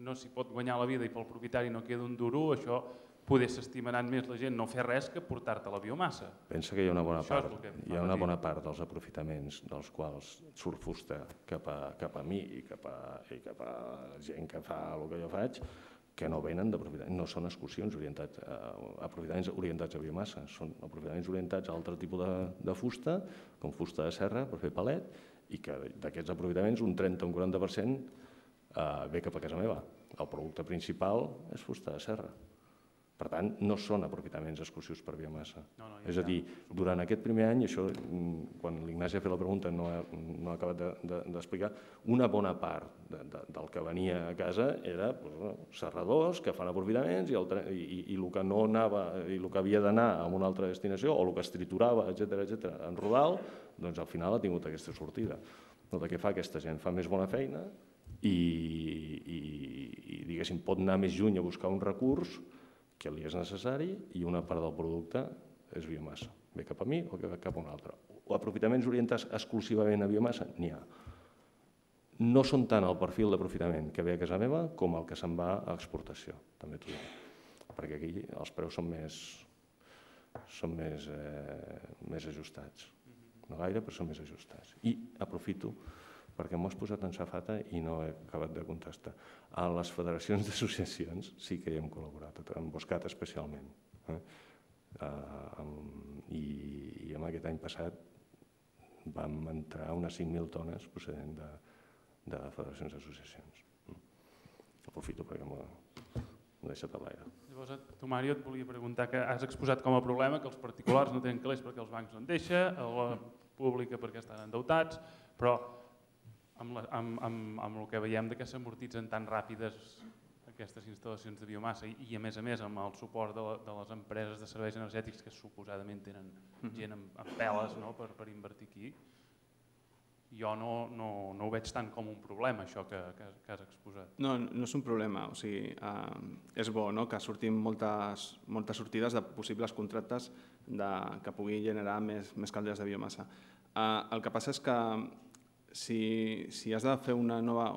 no s'hi pot guanyar la vida i pel propietari no queda un duro, això poder s'estimaran més la gent no fer res que portar-te la biomassa. Pensa que hi ha una bona part, hi ha una bona part dels aprofitaments dels quals surt fusta cap a mi i cap a gent que fa el que jo faig, que no venen d'aprofitaments, no són excursions orientats, aprofitaments orientats a biomassa, són aprofitaments orientats a altre tipus de fusta, com fusta de serra per fer palet, i que d'aquests aprofitaments un trenta o un quaranta per cent ve cap a casa meva. El producte principal és fusta de serra. Per tant, no són aprofitaments exclusius per biomassa. És a dir, durant aquest primer any, això, quan l'Ignasi ha fet la pregunta no ha acabat d'explicar, una bona part del que venia a casa era serradors que fan aprofitaments i el que no anava, i el que havia d'anar a una altra destinació o el que es triturava, etcètera, etcètera, en rodal, doncs al final ha tingut aquesta sortida. El que fa aquesta gent fa més bona feina i, diguéssim, pot anar més lluny a buscar un recurs que li és necessari i una part del producte és biomassa. Ve cap a mi o cap a un altre. O aprofitaments orientats exclusivament a biomassa, n'hi ha. No són tant el perfil d'aprofitament que ve a casa meva com el que se'n va a exportació, també t'ho dic. Perquè aquí els preus són més són més ajustats. No gaire, però són més ajustats. I aprofito perquè m'ho has posat en safata i no he acabat de contestar. A les federacions d'associacions sí que hi hem col·laborat, en Boscat especialment. I en aquest any passat vam entrar unes cinc mil tones procedent de federacions d'associacions. Aprofito perquè m'ho he deixat a l'aire. Llavors, tu, Mario, et volia preguntar que has exposat com a problema que els particulars no tenen calés perquè els bancs no en deixen, a la pública perquè estan endeutats, però amb el que veiem que s'amortitzen tan ràpides aquestes instal·lacions de biomassa i, a més a més, amb el suport de les empreses de serveis energètics que suposadament tenen gent amb peles per invertir aquí, jo no ho veig tant com un problema, això que has exposat. No, no és un problema. O sigui, és bo que surtin moltes sortides de possibles contractes que pugui generar més calderes de biomassa. El que passa és que si has de fer una nova...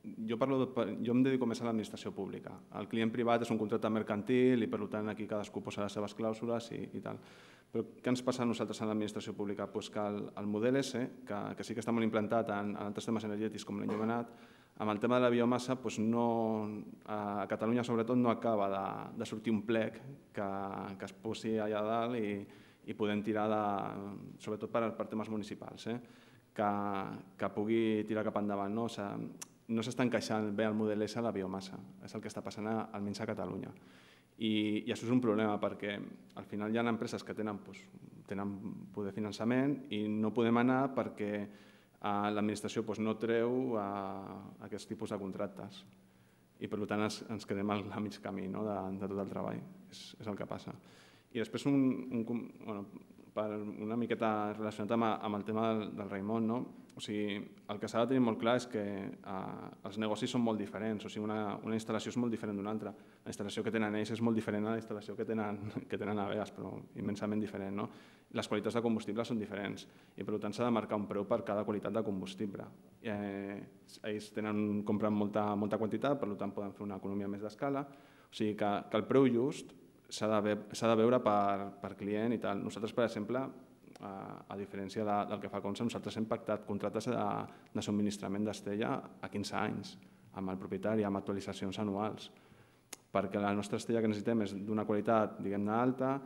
Jo em dedico més a l'administració pública. El client privat és un contracte mercantil i, per tant, aquí cadascú posa les seves clàusules i tal. Però què ens passa a nosaltres en l'administració pública? Que el model S, que sí que està molt implantat en altres temes energètics com l'enllumenat, amb el tema de la biomassa, a Catalunya sobretot no acaba de sortir un plec que es posi allà dalt i podem tirar, sobretot per temes municipals, que pugui tirar cap endavant. No s'està encaixant bé el model S a la biomassa, és el que està passant almenys a Catalunya. I això és un problema perquè al final hi ha empreses que tenen poder de finançament i no podem anar perquè l'administració no treu aquests tipus de contractes i per tant ens quedem a mig camí de tot el treball, és el que passa. I després una miqueta relacionat amb el tema del Raimon, el que s'ha de tenir molt clar és que els negocis són molt diferents, una instal·lació és molt diferent d'una altra. La instal·lació que tenen ells és molt diferent a la instal·lació que tenen a Beas, però immensament diferent. Les qualitats de combustible són diferents i per tant s'ha de marcar un preu per cada qualitat de combustible. Ells compren molta quantitat, per tant poden fer una economia més d'escala, o sigui que el preu just s'ha de veure per client i tal. Nosaltres, per exemple, a diferència del que fa Consa, nosaltres hem pactat contractes de subministrament d'Estella a quinze anys amb el propietari, amb actualitzacions anuals, perquè la nostra estella que necessitem és d'una qualitat, diguem-ne, alta.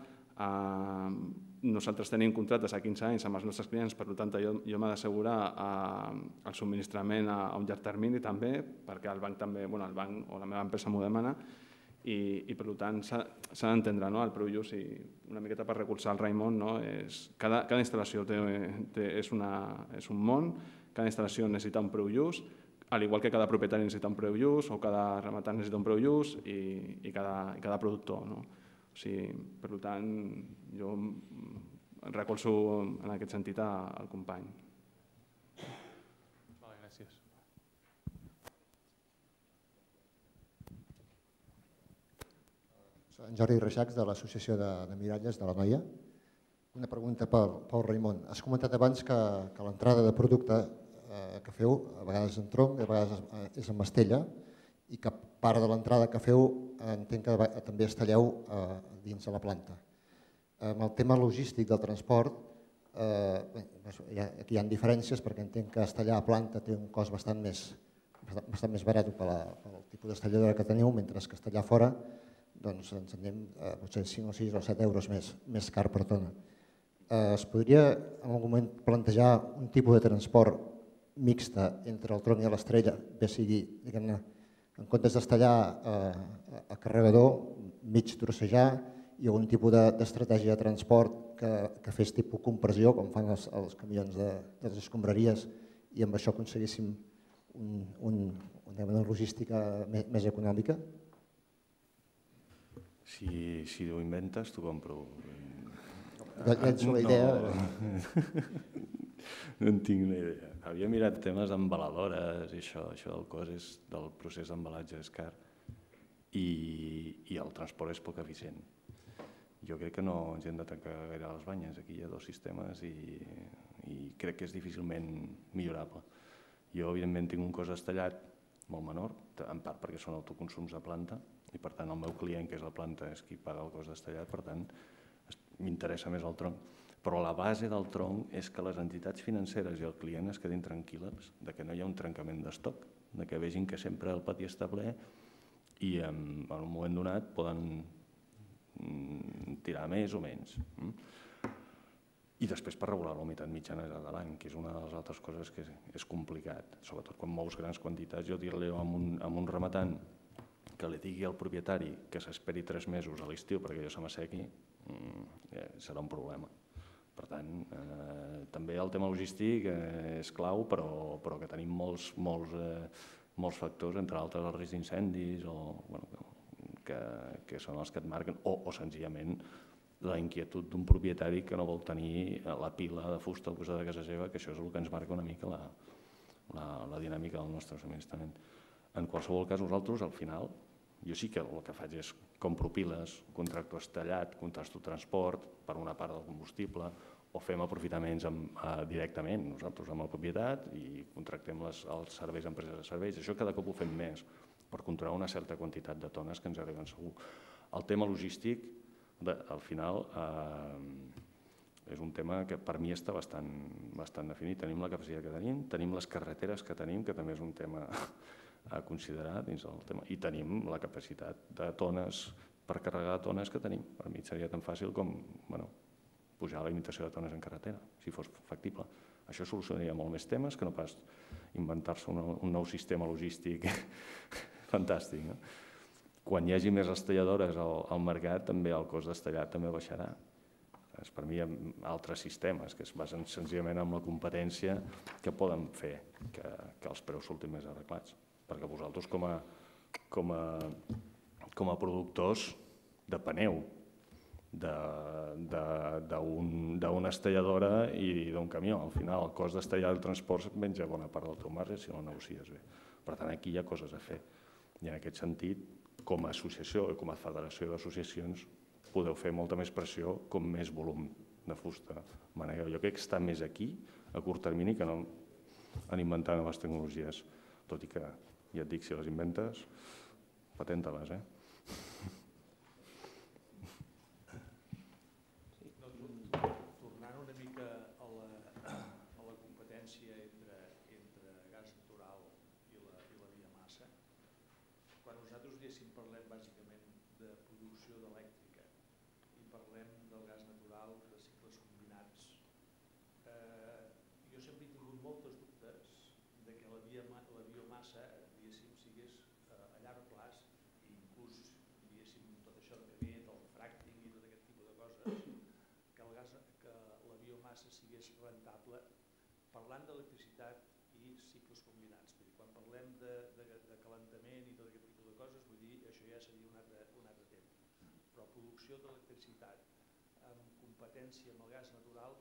Nosaltres tenim contractes a quinze anys amb els nostres clients, per tant, jo m'he d'assegurar el subministrament a un llarg termini també, perquè el banc també, el banc o la meva empresa m'ho demana, i per tant s'ha d'entendre el preu just i una miqueta per recolzar el Raimon. Cada instal·lació és un món, cada instal·lació necessita un preu just, al igual que cada propietari necessita un preu just o cada rematant necessita un preu just i cada productor. Per tant, jo recolzo en aquest sentit al company. Gràcies. En Jordi Reixacs, de l'Associació de Miralles de la Noia. Una pregunta pel Raimon. Has comentat abans que l'entrada de producte que feu, a vegades en tronc, a vegades és en mastella, i que part de l'entrada que feu entenc que també es talleu dins de la planta. Amb el tema logístic del transport, aquí hi ha diferències perquè entenc que estallar a planta té un cost bastant més barat pel tipus d'estalladora que teniu, mentre que estallar fora doncs ens anem potser cinc o sis o set euros més car per tona. Es podria en algun moment plantejar un tipus de transport mixta entre el tronc i l'estrella, bé sigui, diguem-ne, en comptes d'estallar a carregador, mig trossejar, i algun tipus d'estratègia de transport que fes tipus compressió, com fan els camions de les escombraries, i amb això aconseguíssim una logística més econòmica? Si ho inventes, t'ho compro. Llenço la idea. No en tinc una idea. Havia mirat temes d'embaladores i això, això del cost és del procés d'embalatge és car i el transport és poc eficient. Jo crec que no ens hem de tancar gaire les banyes. Aquí hi ha dos sistemes i crec que és difícilment millorable. Jo, evidentment, tinc un cost estallat molt menor, en part perquè són autoconsums de planta, i per tant el meu client, que és la planta, és qui paga el cost d'estallat, per tant m'interessa més el tronc. Però la base del tronc és que les entitats financeres i el client es quedin tranquil·les de que no hi ha un trencament d'estoc, de que vegin que sempre el pati està ple i en un moment donat poden tirar més o menys. I després per regular la humitat mitjana de l'any, que és una de les altres coses que és complicat, sobretot quan mous grans quantitats. Jo dir-li a un rematant que li digui al propietari que s'esperi tres mesos a l'estiu perquè allò se m'assequi, serà un problema. Per tant, també el tema logístic és clau, però que tenim molts factors, entre altres el risc d'incendis, que són els que et marquen, o senzillament la inquietud d'un propietari que no vol tenir la pila de fusta al costat de casa seva, que això és el que ens marca una mica la dinàmica del nostre subministrament. En qualsevol cas, nosaltres, al final, jo sí que el que faig és compro piles, contracto estallat, contracto transport per una part del combustible, o fem aprofitaments directament nosaltres amb la propietat i contractem els serveis a empreses de serveis. Això cada cop ho fem més per controlar una certa quantitat de tones que ens arriben segur. El tema logístic, al final, és un tema que per mi està bastant definit. Tenim la capacitat que tenim, tenim les carreteres que tenim, que també és un tema a considerar dins del tema, i tenim la capacitat de tones, per carregar tones que tenim. Per mi seria tan fàcil com pujar la limitació de tones en carretera, si fos factible. Això solucionaria molt més temes que no pas inventar-se un nou sistema logístic fantàstic. Quan hi hagi més estalladores al mercat, també el cost d'estallat també baixarà. Per mi hi ha altres sistemes que es basen senzillament en la competència que poden fer que els preus surtin més arreglats. Perquè vosaltres com a productors depeneu d'una estalladora i d'un camió. Al final el cost d'estallar el transport et menja bona part del teu marge si no el negocies bé. Per tant, aquí hi ha coses a fer. I en aquest sentit, com a associació i com a federació d'associacions, podeu fer molta més pressió com més volum de fusta manegueu. Jo crec que està més aquí, a curt termini, que no en inventar noves tecnologies. Tot i que, ja et dic, si les inventes, patenta-les, eh? Tornant una mica a la competència entre gas natural i la biomassa, quan nosaltres diguéssim parlem bàsicament de producció d'elèctrica i parlem del gas natural de cicles combinats, jo sempre he tingut moltes dubtes de que la biomassa, diguéssim, sigués a llarg plaç, i inclús, diguéssim, tot això que ve del fracking i tot aquest tipus de coses, que la biomassa sigués rentable, parlant d'electricitat i cicles combinats. Quan parlem de calentament i tot aquest tipus de coses, vull dir, això ja seria un altre tema. Però producció d'electricitat amb competència amb el gas natural,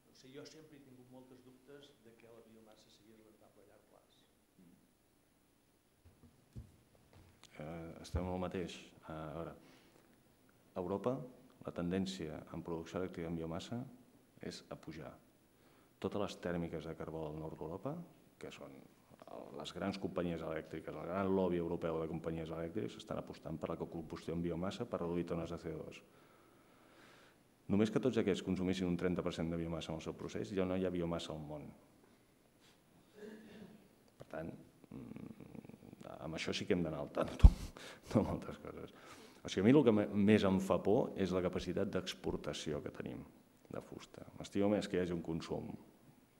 no sé, jo sempre he tingut moltes dubtes de que la biomassa sigui rentable a llarg plaç. Estem en el mateix. A veure, a Europa la tendència en producció elèctrica en biomassa és a pujar. Totes les tèrmiques de carbó del nord d'Europa, que són les grans companyies elèctriques, el gran lobby europeu de companyies elèctriques, estan apostant per la combustió en biomassa per reduir tones de C O dos. Només que tots aquests consumissin un trenta per cent de biomassa en el seu procés, ja no hi ha biomassa al món. Per tant, amb això sí que hem d'anar al tanto, no amb altres coses. O sigui, a mi el que més em fa por és la capacitat d'exportació que tenim de fusta. M'estimo més que hi hagi un consum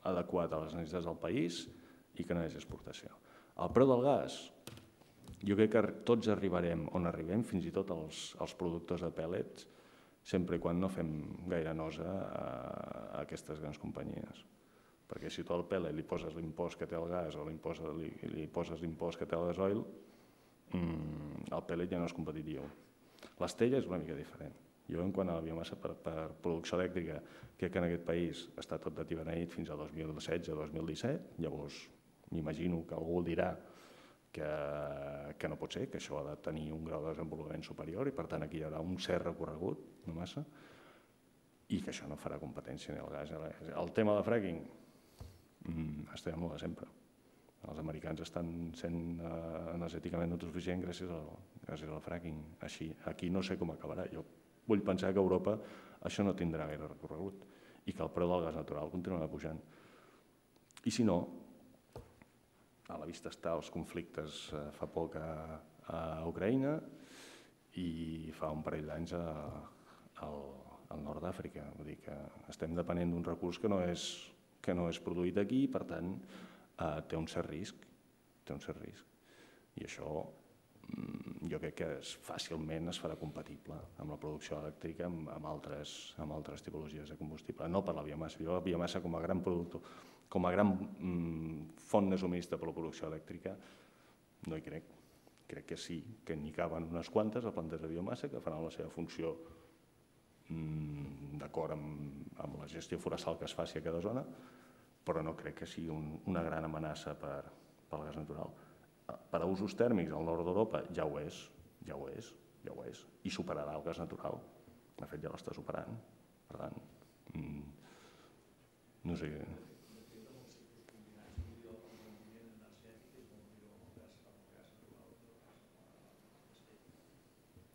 adequat a les necessitats del país i que no hi hagi exportació. El preu del gas, jo crec que tots arribarem on arribem, fins i tot els productors de pèl·lets, sempre i quan no fem gaire nosa a aquestes grans companyies. Perquè si tu al pèl·let li poses l'impost que té el gas o li poses l'impost que té el gasoil, el pèl·let ja no és competitiu. L'estella és una mica diferent. Jo, en quant a la biomassa per producció elèctrica, crec que en aquest país està tot d'atibeneït fins al dos mil setze dos mil disset, llavors m'imagino que algú dirà que no pot ser, que això ha de tenir un grau de desenvolupament superior i per tant aquí hi haurà un cert recorregut de massa i que això no farà competència ni al gas. El tema de fracking, estem amb la de sempre. Els americans estan sent energèticament autosuficients gràcies al fracking. Aquí no sé com acabarà. Jo vull pensar que a Europa això no tindrà gaire recorregut i que el preu del gas natural continuarà pujant. I si no, a la vista està els conflictes fa poc a Ucraïna i fa un parell d'anys al nord d'Àfrica. Vull dir que estem depenent d'un recurs que no és, que no és produït aquí i, per tant, eh, té un cert risc. Té un cert risc. I això jo crec que es, fàcilment es farà compatible amb la producció elèctrica amb, amb, altres, amb altres tipologies de combustible. No per la biomassa. Jo la biomassa com a gran productor, com a gran mm, font de subministre per la producció elèctrica no hi crec. Crec que sí, que n'hi caben unes quantes a plantes de biomassa que faran la seva funció mm, d'acord amb, amb la gestió forestal que es faci a cada zona, però no crec que sigui un, una gran amenaça per, pel gas natural. Per a usos tèrmics al nord d'Europa ja ho és, ja ho és, ja ho és, i superarà el gas natural. De fet, ja l'està superant. Per tant, mm, no sé...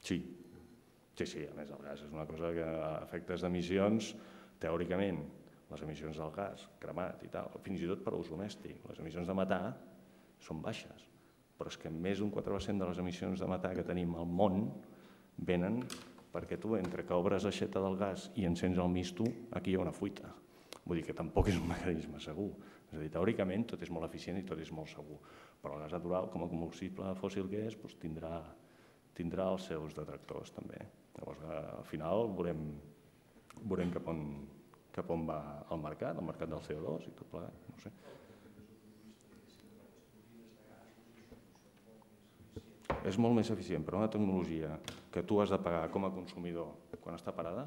Sí, sí, sí, a més el gas és una cosa que a efectes d'emissions, teòricament, les emissions del gas, cremat i tal, fins i tot per a ús domèstic, les emissions de metà són baixes, però és que més d'un quatre per cent de les emissions de metà que tenim al món venen perquè tu, entre que obres l'aixeta del gas i encens el misto, aquí hi ha una fuita. Vull dir que tampoc és un mecanisme segur. És a dir, teòricament tot és molt eficient i tot és molt segur, però el gas natural, com a combustible fòssil que és, doncs tindrà tindrà els seus detractors també. Llavors, al final veurem, veurem cap, on, cap on va el mercat, el mercat del C O dos i tot plegat, no sé. És molt més eficient, però una tecnologia que tu has de pagar com a consumidor quan està parada,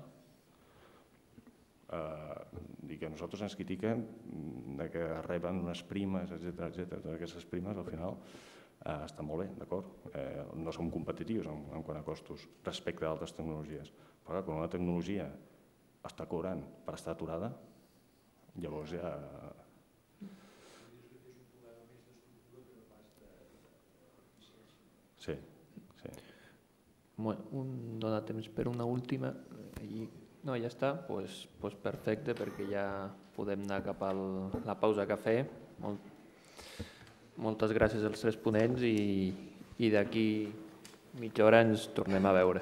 eh, i que nosaltres ens critiquem de que reben unes primes, etcètera, etcètera. Totes aquestes primes, al final, eh, estan molt bé, d'acord? Eh, no som competitius en, en quant a costos respecte a altres tecnologies. Però quan una tecnologia està cobrant per estar aturada, llavors ja... Sí, sí. Bueno, un, dona temps per una última. I, no, ja està, pues, pues perfecte, perquè ja podem anar cap a la pausa cafè. Molt, moltes gràcies als tres ponents i, i d'aquí mitja hora ens tornem a veure.